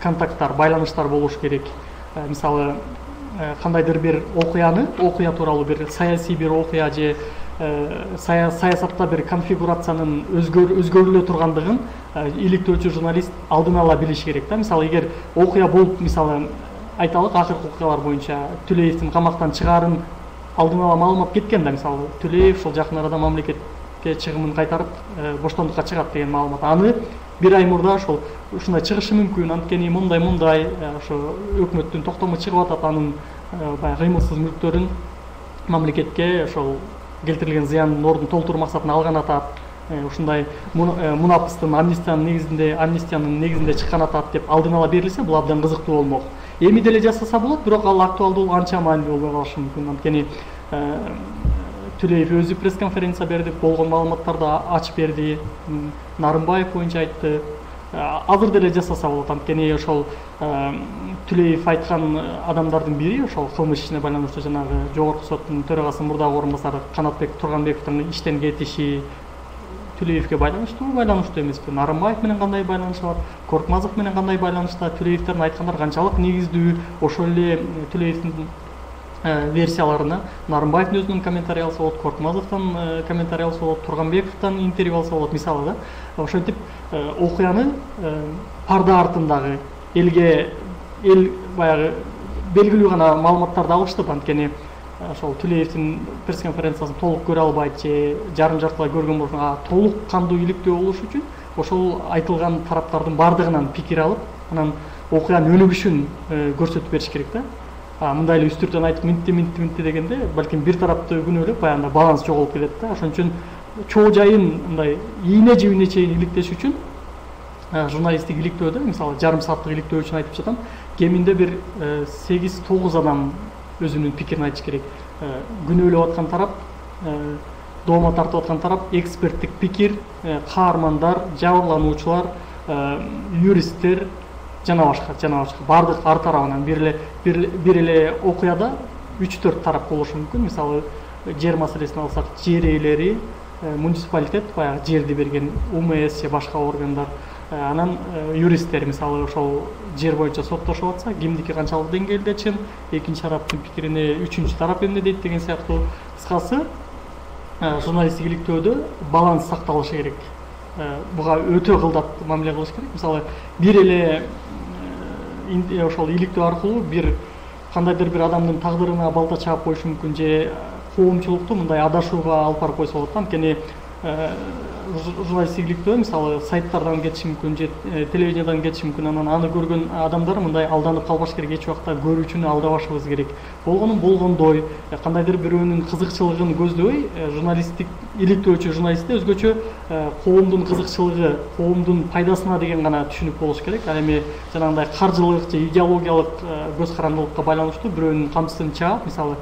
контакттар, байланыштар болуш керек. Мисалы кандайдыр бир окуя тууралуу бир саясий бир окуя же саясатта бир конфигурациянын өзгөрүлө тургандыгын иликтөөчү журналист алдын ала билиш керек да. Мисалы эгер окуя болуп, мисалы айталык, акыркы окуялар боюнча Түлеевдин камактан чыгаарын алдын ала маалымат кеткен да. Мисалы Түлеев ушул жакын арада мамлекетке чыгымын кайтарып боштондукка чыгат деген маалымат. Аны бир ай мурда ушундай чыгышы мүмкүн, анткени мындай ошо өкмөттүн токтому чыгып атат, анын баягы кыймылсыз мүлктөрүн мамлекетке ошол келтирилген зыяндын ордун толтуруу максатында алган атат. Ушундай мунапыстын амнистиянын негизинде чыккан атат деп алдын ала берилсе, бул абдан кызыктуу болмок. Эми деле жасаса болот, бирок ал актуалдуу анча маанилүү болбой калышы мүмкүн. Анткени Түлеев өзү пресс-конференция берди, болгон маалыматтарды ачып берди, Нарымбаев боюнча айтты. Азыр деле жасаса болот, анткени ошол Түлеев айткан адамдардын бири ошол кылмыш ишине байланыштуу жанагы жогорку соттун төрагасынын мурдагы орун басары Канатбек Турганбековдун иштен кетиши Түлеевге байланыштуубу, байланыштуу эмеспи? Нарымбаев менен кандай байланышы бар? Коркмазов менен кандай байланышта? Түлеевдердин айткандары канчалык негиздүү? Ошол эле Түлеевдин версияларына Нарымбаевдин өзүнүн комментарий алса болот, Коркмазовдун комментарий алса болот, Турганбековдун интервью алса болот, мисалы да. Ошентип окуяны парда артындагы эл баягы белгилүү гана маалыматтарды алыштып, анткени ошол Түлеевдин пресс-конференциясын толук көрө албайт же жарым-жартылай көргөн болушун, толук кандуу иликтөө болуш үчүн ошол айтылган тараптардын бардыгынан пикир алып, анан окуянын өнүгүшүн көрсөтүп бериш керек да. Мындай эле үстүртөн айтып минтти дегенде, балким бир тарапты күнөөлөп баягы баланс жоголуп кетет да. Ошон үчүн чоо жайын мындай ийне жибине чейин иликтеш үчүн журналисттик иликтөөдө, мисалы жарым сааттык иликтөө үчүн айтып жатам, кеминде бир 8-9 адам өзүнүн пикирин айтыш керек. Күнөөлөп аткан тарап, доома тартып аткан тарап, эксперттик пикир, каармандар, жабырлануучулар, юристтер жана башка бардык ар тарабынан бир эле окуяда 3-4 тарап болушу мүмкүн. Мисалы жер маселесин алсак, жер ээлери, муниципалитет, баягы жерди берген УМС же башка органдар, анан юристтер, мисалы ошол жер боюнча соттошуп атса, кимдики канчалык деңгээлде чын, экинчи тараптын пикирине үчүнчү тарап эмне дейт деген сыяктуу. Кыскасы, журналисттик иликтөөдө баланс сакталышы керек. Буга өтө кылдат мамиле кылыш керек. Мисалы бир эле ошол иликтөө аркылуу бир кандайдыр бир адамдын тагдырына балта чаап коюшу мүмкүн же коомчулукту мындай адашууга алып барып койсо болот. Анткени журналисттик иликтөө мисалы сайттардан кетиши мүмкүн же телевидениядан кетиши мүмкүн. Анан аны көргөн адамдар мындай алданып калбаш керек, эч убакта көрүүчүнү алдабашыбыз керек. Болгонун болгондой, кандайдыр бирөөнүн кызыкчылыгын көздөбөй, журналисттик иликтөөчү журналистте өзгөчө коомдун кызыкчылыгы, коомдун пайдасына деген гана түшүнүк болуш керек. Ал эми жанагындай каржылык же идеологиялык көз карандылыкка байланыштуу бирөөнүн камчысын чаап, мисалы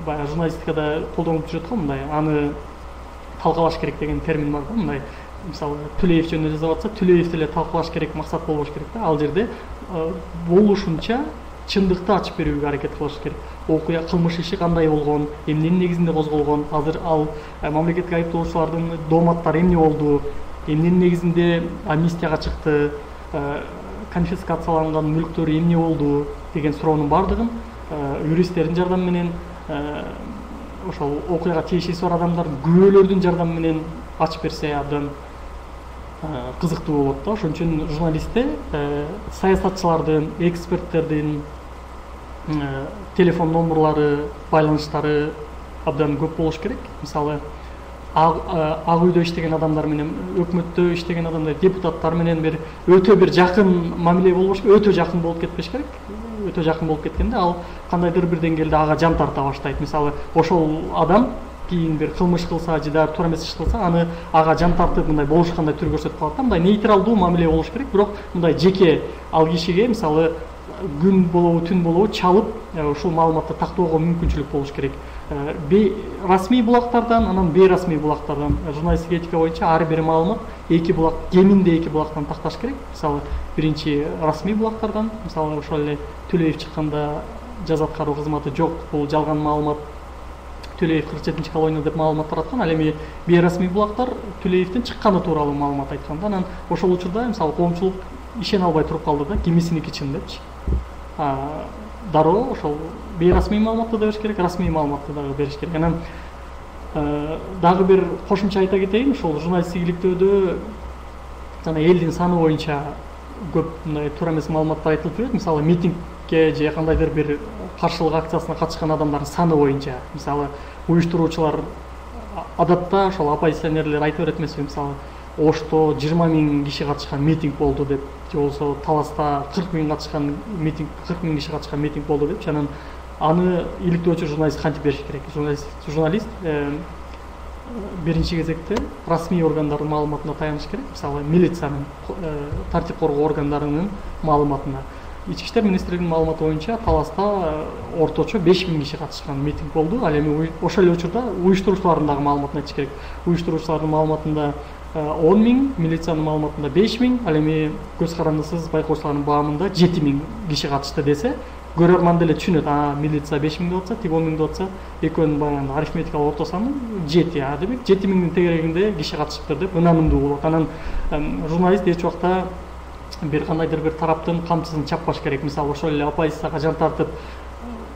баягы журналистикада колдонуп жүрөт го, мындай аны талкалаш керек деген термин бар да. Мындай мисалы Түлеев жөнүндө жазып атса, Түлеевди эле талкалаш керек, максат болбош керек да. Ал жерде болушунча чындыкты ачып берүүгө аракет кылыш керек. Окуя, кылмыш иши кандай болгон, эмненин негизинде козголгон, азыр ал мамлекетке айыптоочулардын дооматтары эмне болду, эмненин негизинде амнистияга чыкты, конфискацияланган мүлктөрү эмне болду деген суроонун баардыгын юристтердин жардамы менен, ошол окуяга тиешеси бар адамдардын күбөлөрдүн жардамы менен ачып берсе абдан кызыктуу болот да. Ошон үчүн журналистте саясатчылардын, эксперттердин телефон номерлары, байланыштары абдан көп болуш керек. Мисалы, ак үйдө иштеген адамдар менен, өкмөттө иштеген адамдар, депутаттар менен бир өтө бир жакын мамиле болбош керек, өтө жакын болуп кетпеш керек. Өтө жакын болуп кеткенде ал кандайдыр бир деңгээлде ага жан тарта баштайт. Мисалы, ошол адам кийин бир кылмыш кылса же да туура эмес иш кылса, аны ага жан тартып мындай болушкандай түр көрсөтүп калат да. Мындай нейтралдуу мамиле болуш керек, бирок мындай жеке ал кишиге мисалы күн болобу, түн болобу чалып ушул маалыматты тактоого мүмкүнчүлүк болуш керек. Расмий булактардан, анан бейрасмий булактардан, журналисттик этика боюнча ар бир маалымат эки булак, кеминде эки булактан такташ керек. Мисалы, биринчи расмий булактардан, мисалы ошол эле Төлөев чыкканда жаза аткаруу кызматы жок, бул жалган маалымат, Төлөев 47-чи колония деп маалымат тараткан. Ал эми бейрасмий булактар Төлөевдин чыкканы тууралуу маалымат айтканда, анан ошол учурда мисалы коомчулук ишене албай туруп калды да, кимисиники чын депчи. Дароо ошол бейрасмий маалыматты да бериш керек, расмий маалыматты дагы бериш керек. Анан дагы бир кошумча айта кетейин, ошол журналисттик иликтөөдө жана элдин саны боюнча көп мындай туура эмес маалыматтар айтылып жүрөт. Мисалы, митингге же кандайдыр бир каршылык акциясына катышкан адамдардын саны боюнча. Мисалы, уюштуруучулар адатта ошол оппозиционерлер айта берет эмеспи, мисалы, Ошто 20 000 киши катышкан митинг болду деп, же болбосо Таласта 40 000 катышкан митинг, 40 000 киши катышкан митинг болду деп, анан аны иликтөөчү журналист кантип бериш керек? Журналист биринчи кезекте расмий органдардын маалыматына таяныш керек. Мисалы, милициянын, тартип коргоо органдарынын маалыматына. Ички иштер министрлигинин маалыматы боюнча Таласта орточо 5 000 киши катышкан митинг болду. Ал эми ошол эле учурда уюштуруучулардын дагы маалыматын айтыш керек. Уюштуруучулардын маалыматында 10 000, милициянын маалыматында 5 000, ал эми көз карандысыз байкоочулардын баамында 7 000 киши катышты десе, көрөрман деле түшүнөт. Милиция 5 000 деп атса, тиги 10 000 деп атса, экөөнүн баягы арифметикалык орто саны 7. Демек 7 000-дин тегерегинде киши катышыптыр деп ынанымдуу болот. Анан журналист эч убакта бир кандайдыр бир тараптын камчысын чаппаш керек. Мисалы, ошол эле оппозицияга жан тартып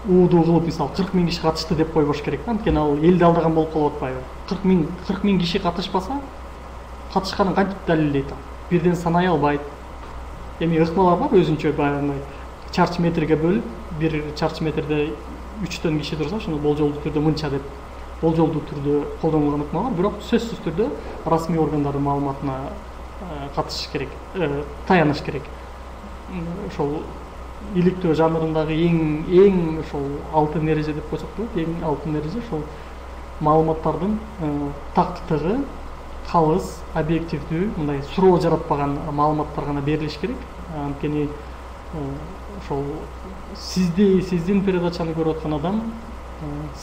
уудуу кылып, мисалы 40 000 киши катышты деп койбош керек. Анткени ал элди алдаган болуп калып атпайбы? 40 000 киши катышпаса, катышканын кантип далилдейт? Бирден санай албайт. Эми ыкмалар бар өзүнчө, баягы чарчы метрге бөлүп, бир чарчы метрде 3 киши турса, ошону болжолдуу түрдө мынча деп болжолдуу түрдө колдонулган ыкма бар, бирок сөзсүз түрдө расмий органдардын маалыматына катышыш керек, таяныш керек. Ошол иликтөө жанрындагы эң ошол алтын эреже деп койсок болот, эң алтын эреже ошол маалыматтардын тактыгы, калыс, объективдүү, мындай суроо жаратпаган маалыматтар гана берилиш керек. Анткени ошол сиздин передачаны көрүп аткан адам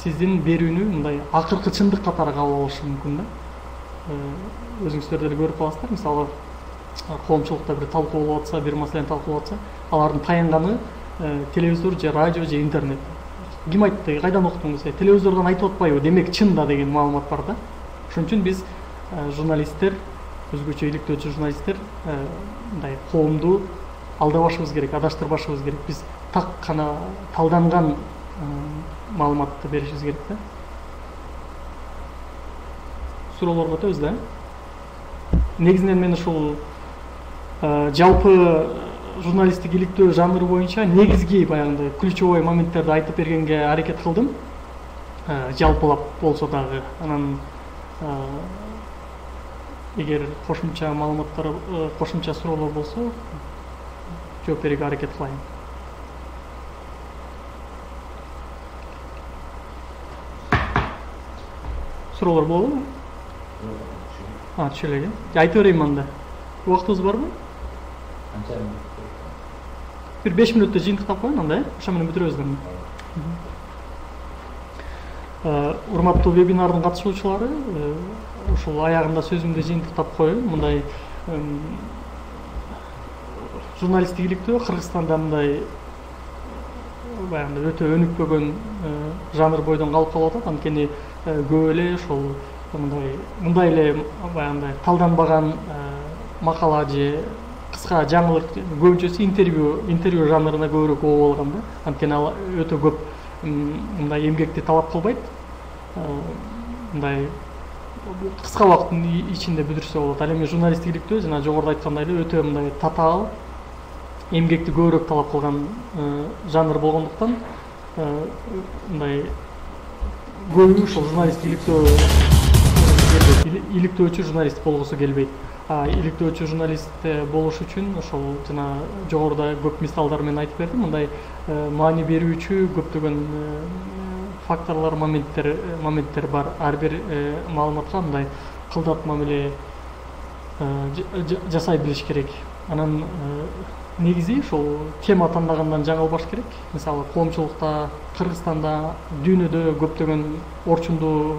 сиздин берүүнү мындай акыркы чындык катары кабыл алышы мүмкүн да. Өзүңүздөр деле көрүп каласыздар, мисалы, коомчулукта бир талкуу болуп атса, бир маселени талкуулап атса, алардын таянганы телевизор же радио же интернет. Ким айтты, кайдан уктуңуз? Телевизордон айтып атпайбы, демек чын да деген маалымат бар да. Ошон үчүн биз журналисттер, өзгөчө иликтөөчү журналисттер мындай коомду алдабашыбыз керек, адаштырбашыбыз керек. Биз так гана талданган маалыматты беришибиз керек да. Суроолорго өтөбүз да. Негизинен мен ушул жалпы журналисттик иликтөө жанры боюнча негизги баягындай ключевой моменттерди айтып бергенге аракет кылдым. Жалпылап болсо дагы. Анан эгер кошумча маалыматтар, кошумча суроолор болсо, жооп берүүгө аракет кылайын. Суроолор болобу? Түшө элек. Айтып берейин анда. Убактыбыз барбы? Канча? Бир 5 мүнөттө жыйынтыктап коеюн анда, ошо менен бүтүрөбүз да. Урматтуу вебинардын катышуучулары, ушул аягында сөзүмдү жыйынтыктап коеюн. Мындай журналисттик иликтөө Кыргызстанда мындай баягы өтө өнүкпөгөн жанр бойдон калып калып атат. Анткени көп эле ошол мындай эле баягындай талданбаган макала же кыска жаңылык көбүнчөсү интервью жанрына көбүрөөк оо болгон да. Анткени ал өтө көп мындай эмгекти талап кылбайт. Мындай кыска убакыттын ичинде бүтүрсө болот. Ал эми журналисттиктөө жана жогоруда айткандай эле өтө мындай татаал, эмгекти көбүрөөк талап кылган жанр болгондуктан мындай көбү ушул журналисттиктөө иликтөөчү журналист болгусу келбейт. Иликтөөчү журналист болуш үчүн ошол жана жогоруда көп мисалдар менен айтып бердим. Мындай маани берүүчү көптөгөн факторлор, моменттер бар. Ар бир маалыматка мындай кылдат мамиле жасай билиш керек. Анан негизи ушул тема тандагандан жаңылбаш керек. Мисалы коомчулукта, Кыргызстанда, дүйнөдө көптөгөн орчундуу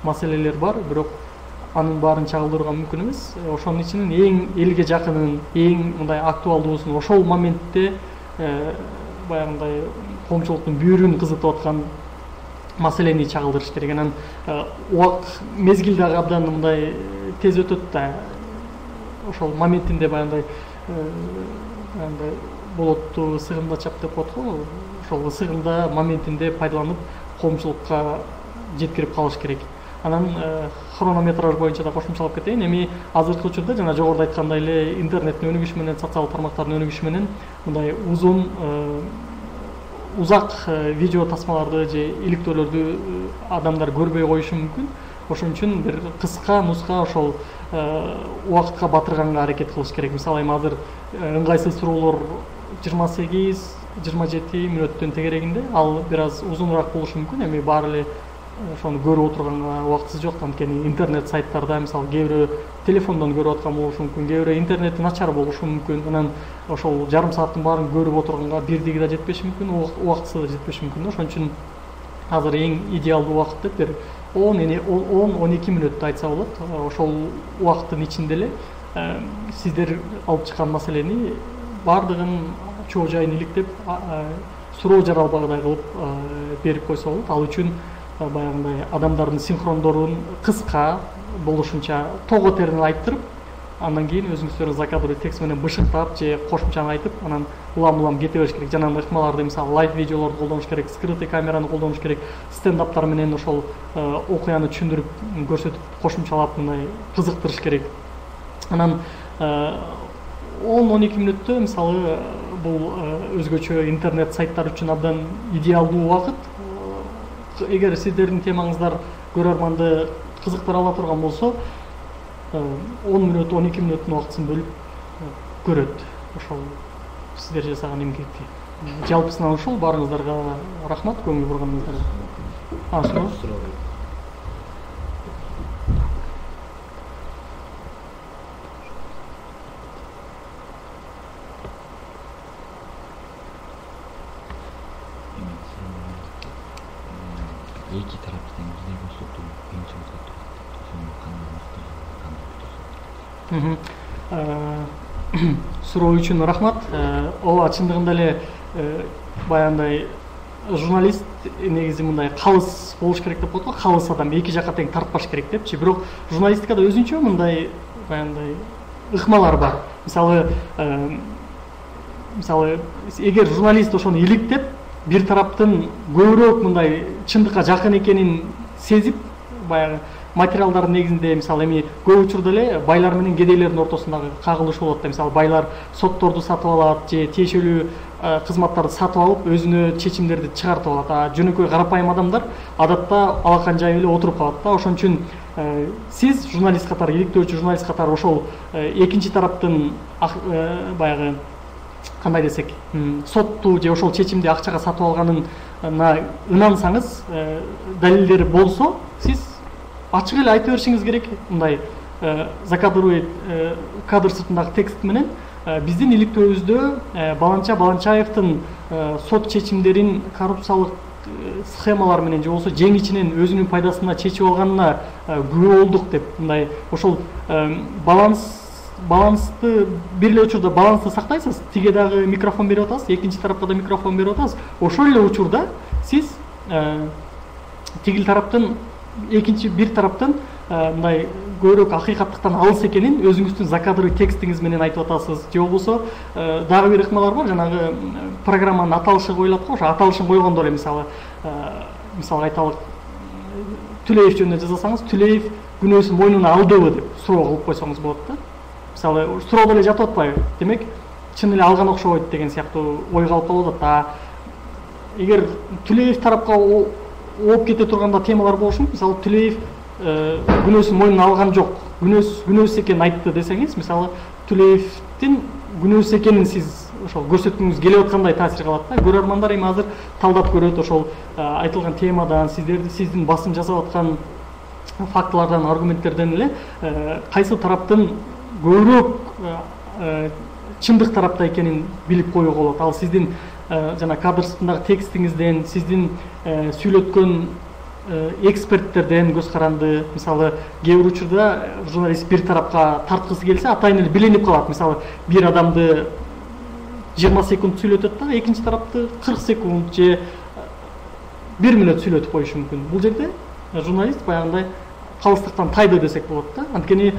маселелер бар, бирок анын баарын чагылдырууга мүмкүн эмес. Ошонун ичинен эң элге жакынын, эң мындай актуалдуусун ошол моментте баягындай коомчулуктун бүйүрүн кызытып аткан маселени чагылдырыш керек. Анан убакыт мезгил дагы абдан мындай тез өтөт да. Ошол моментинде баягындай болотту сыгымда чап деп коет го. Ошол сыгымда моментинде пайдаланып коомчулукка жеткирип калыш керек. Анан хронометраж боюнча да кошумчалап кетейин. Эми азыркы учурда жана жогоруда айткандай эле интернеттин өнүгүшү менен, социалдык тармактардын өнүгүшү менен мындай узак видео тасмаларды же иликтөөлөрдү адамдар көрбөй коюшу мүмкүн. Ошон үчүн бир кыска нуска ошол убакытка батырганга аракет кылыш керек. Мисалы эми азыр ыңгайсыз суроолор 28-27 мүнөттүн тегерегинде, ал бир аз узунураак болушу мүмкүн. Эми баары эле ошону көрүп отурганга убактысы жок. Анткени интернет сайттарда мисалы кээ бирөө телефондон көрүп аткан болушу мүмкүн, кээ бирөө интернети начар болушу мүмкүн. Анан ошол жарым сааттын баарын көрүп отурганга бирдиги да жетпеши мүмкүн, убактысы да жетпеши мүмкүн. Ошон үчүн азыр эң идеалдуу убакыт деп бир 10-12 мүнөттү айтса болот. Ошол убакыттын ичинде эле сиздер алып чыккан маселени баардыгын чоо жайын иликтеп, суроо жаралбагыдай кылып берип койсо болот. Ал үчүн баягындай адамдардын синхрондорун кыска болушунча того терин айттырып, андан кийин өзүңүздөр закадровый текст менен бышыктап же кошумчаны айтып, анан улам кете бериш керек. Жанагындай ыкмаларды мисалы лайв видеолорду колдонуш керек, скрытый камераны колдонуш керек, стендаптар менен ошол окуяны түшүндүрүп көрсөтүп, кошумчалап мындай кызыктырыш керек. Анан 10-12 мүнөттө мисалы бул өзгөчө интернет сайттар үчүн абдан идеалдуу убакыт. Эгер сиздердин темаңыздар көрөрманды кызыктыра ала турган болсо, 10 мүнөт, 12 мүнөттүн убактысын бөлүп көрөт. Ошол сиздер жасаган эмгекти. Жалпысынан ушул. Баарыңыздарга рахмат көңүл бурганыңыздарга. Эки тараптын бизде көрсөтүү кыйынчылык суроо үчүн рахмат. Ооба, чындыгында эле баягындай журналист негизи мындай калыс болуш керек деп коет го. Калыс адам эки жакка тең тартпаш керек депчи. Бирок журналистикада өзүнчө мындай баягындай ыкмалар бар. Мисалы эгер журналист ошону иликтеп, бир тараптын көбүрөөк мындай чындыкка жакын экенин сезип, баягы материалдардын негизинде мисалы эми көп учурда эле байлар менен кедейлердин ортосундагы кагылышуу болот да. Мисалы байлар сотторду сатып алат же тиешелүү кызматтарды сатып алып өзүнө чечимдерди чыгартып алат. Жөнөкөй карапайым адамдар адатта алакан жайып эле отуруп калат да. Ошон үчүн сиз журналист катары, иликтөөчү журналист катары ошол экинчи тараптын баягы кандай десек, сотту же ошол чечимди акчага сатып алганына ынансаңыз, далилдери болсо, сиз ачык эле айта беришиңиз керек. Мындай закадровый кадр сыртындагы текст менен биздин иликтөөбүздө Баланча Баланчаевдин сот чечимдерин коррупциялык схемалар менен же болбосо жеңичинен өзүнүн пайдасына чечип алганына күбө болдук деп, мындай ошол баланс балансты бир эле учурда балансты сактайсыз, тиге дагы микрофон берип атасыз, экинчи тарапка да микрофон берип атасыз. Ошол эле учурда сиз тигил тараптын экинчи бир тараптын мындай көбүрөөк акыйкаттыктан алыс экенин өзүңүздүн закадровый текстиңиз менен айтып атасыз, же болбосо дагы бир ыкмалар бар, жанагы программанын аталышы коюлат го, ошо аталышын койгондо эле мисалы айталык Түлеев жөнүндө жазасаңыз, Түлеев күнөөсүн мойнуна алдыбы деп суроо кылып койсоңуз болот да. Мисалы суроодо эле жатып атпайбы? Демек, чын эле алган окшобойт деген сыяктуу ой калып калып атат. Эгер Түлеев тарапка ооп кете турганда темалар болушу мүмкүн. Мисалы Түлеев күнөөсүн мойнуна алган жок, күнөөсүз экенин айтты десеңиз, мисалы Түлеевдин күнөөсүз экенин сиз ошол көрсөткүңүз келип аткандай таасир калат да. Көрөрмандар эми азыр талдап көрөт ошол айтылган темадан, сиздин басым жасап аткан фактылардан, аргументтерден эле кайсы тараптын көбүрөөк чындык тарапта экенин билип коюуга болот. Ал сиздин жана кадр сыртындагы текстиңизден, сиздин сүйлөткөн эксперттерден көз каранды. Мисалы кээ бир учурда журналист бир тарапка тарткысы келсе, атайын эле билинип калат. Мисалы бир адамды 20 секунд сүйлөтөт да, экинчи тарапты 40 секунд же 1 мүнөт сүйлөтүп коюшу мүмкүн. Бул жерде журналист баягындай калыстыктан тайды десек болот да. Анткени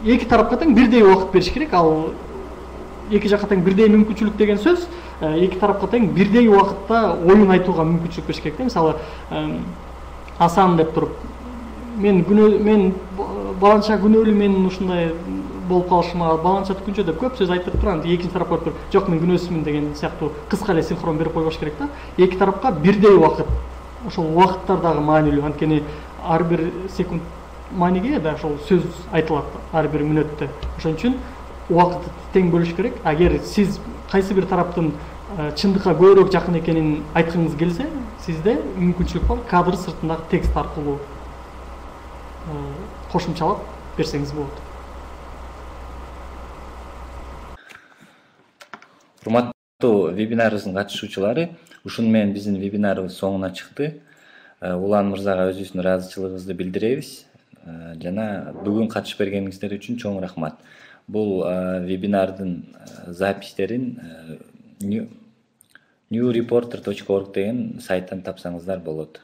эки тарапка тең бирдей убакыт бериш керек. Ал эки жакка тең бирдей мүмкүнчүлүк деген сөз, эки тарапка тең бирдей убакытта оюн айтууга мүмкүнчүлүк бериш керек да. Мисалы Асан деп туруп, мен баланча күнөөлүү, мен ушундай болуп калышыма баланча түкүнчө деп көп сөз айтып турган, экинчи тарап барып туруп, жок мен күнөөсүзмүн деген сыяктуу кыска эле синхрон берип койбош керек да. Эки тарапка бирдей убакыт. Ошол убакыттар дагы маанилүү, анткени ар бир секунд мааниге да ошол сөз айтылат ар бир мүнөттө. Ошон үчүн убакытты тең бөлүш керек. Агер сиз кайсы бир тараптын чындыкка көбүрөөк жакын экенин айткыңыз келсе, сизде мүмкүнчүлүк бар кадр сыртындагы текст аркылуу кошумчалап берсеңиз болот. Урматтуу вебинарыбыздын катышуучулары, ушуну менен биздин вебинарыбыз соңуна чыкты. Улан мырзага өзүбүздүн ыраазычылыгыбызды билдиребиз. Жана бүгүн катышып бергениңиздер үчүн чоң рахмат. Бул вебинардын запистерин newreporter.org деген сайттан тапсаңыздар болот.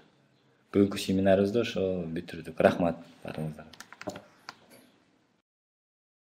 Бүгүнкү семинарыбызды ошо бүтүрдүк. Рахмат баарыңыздарга.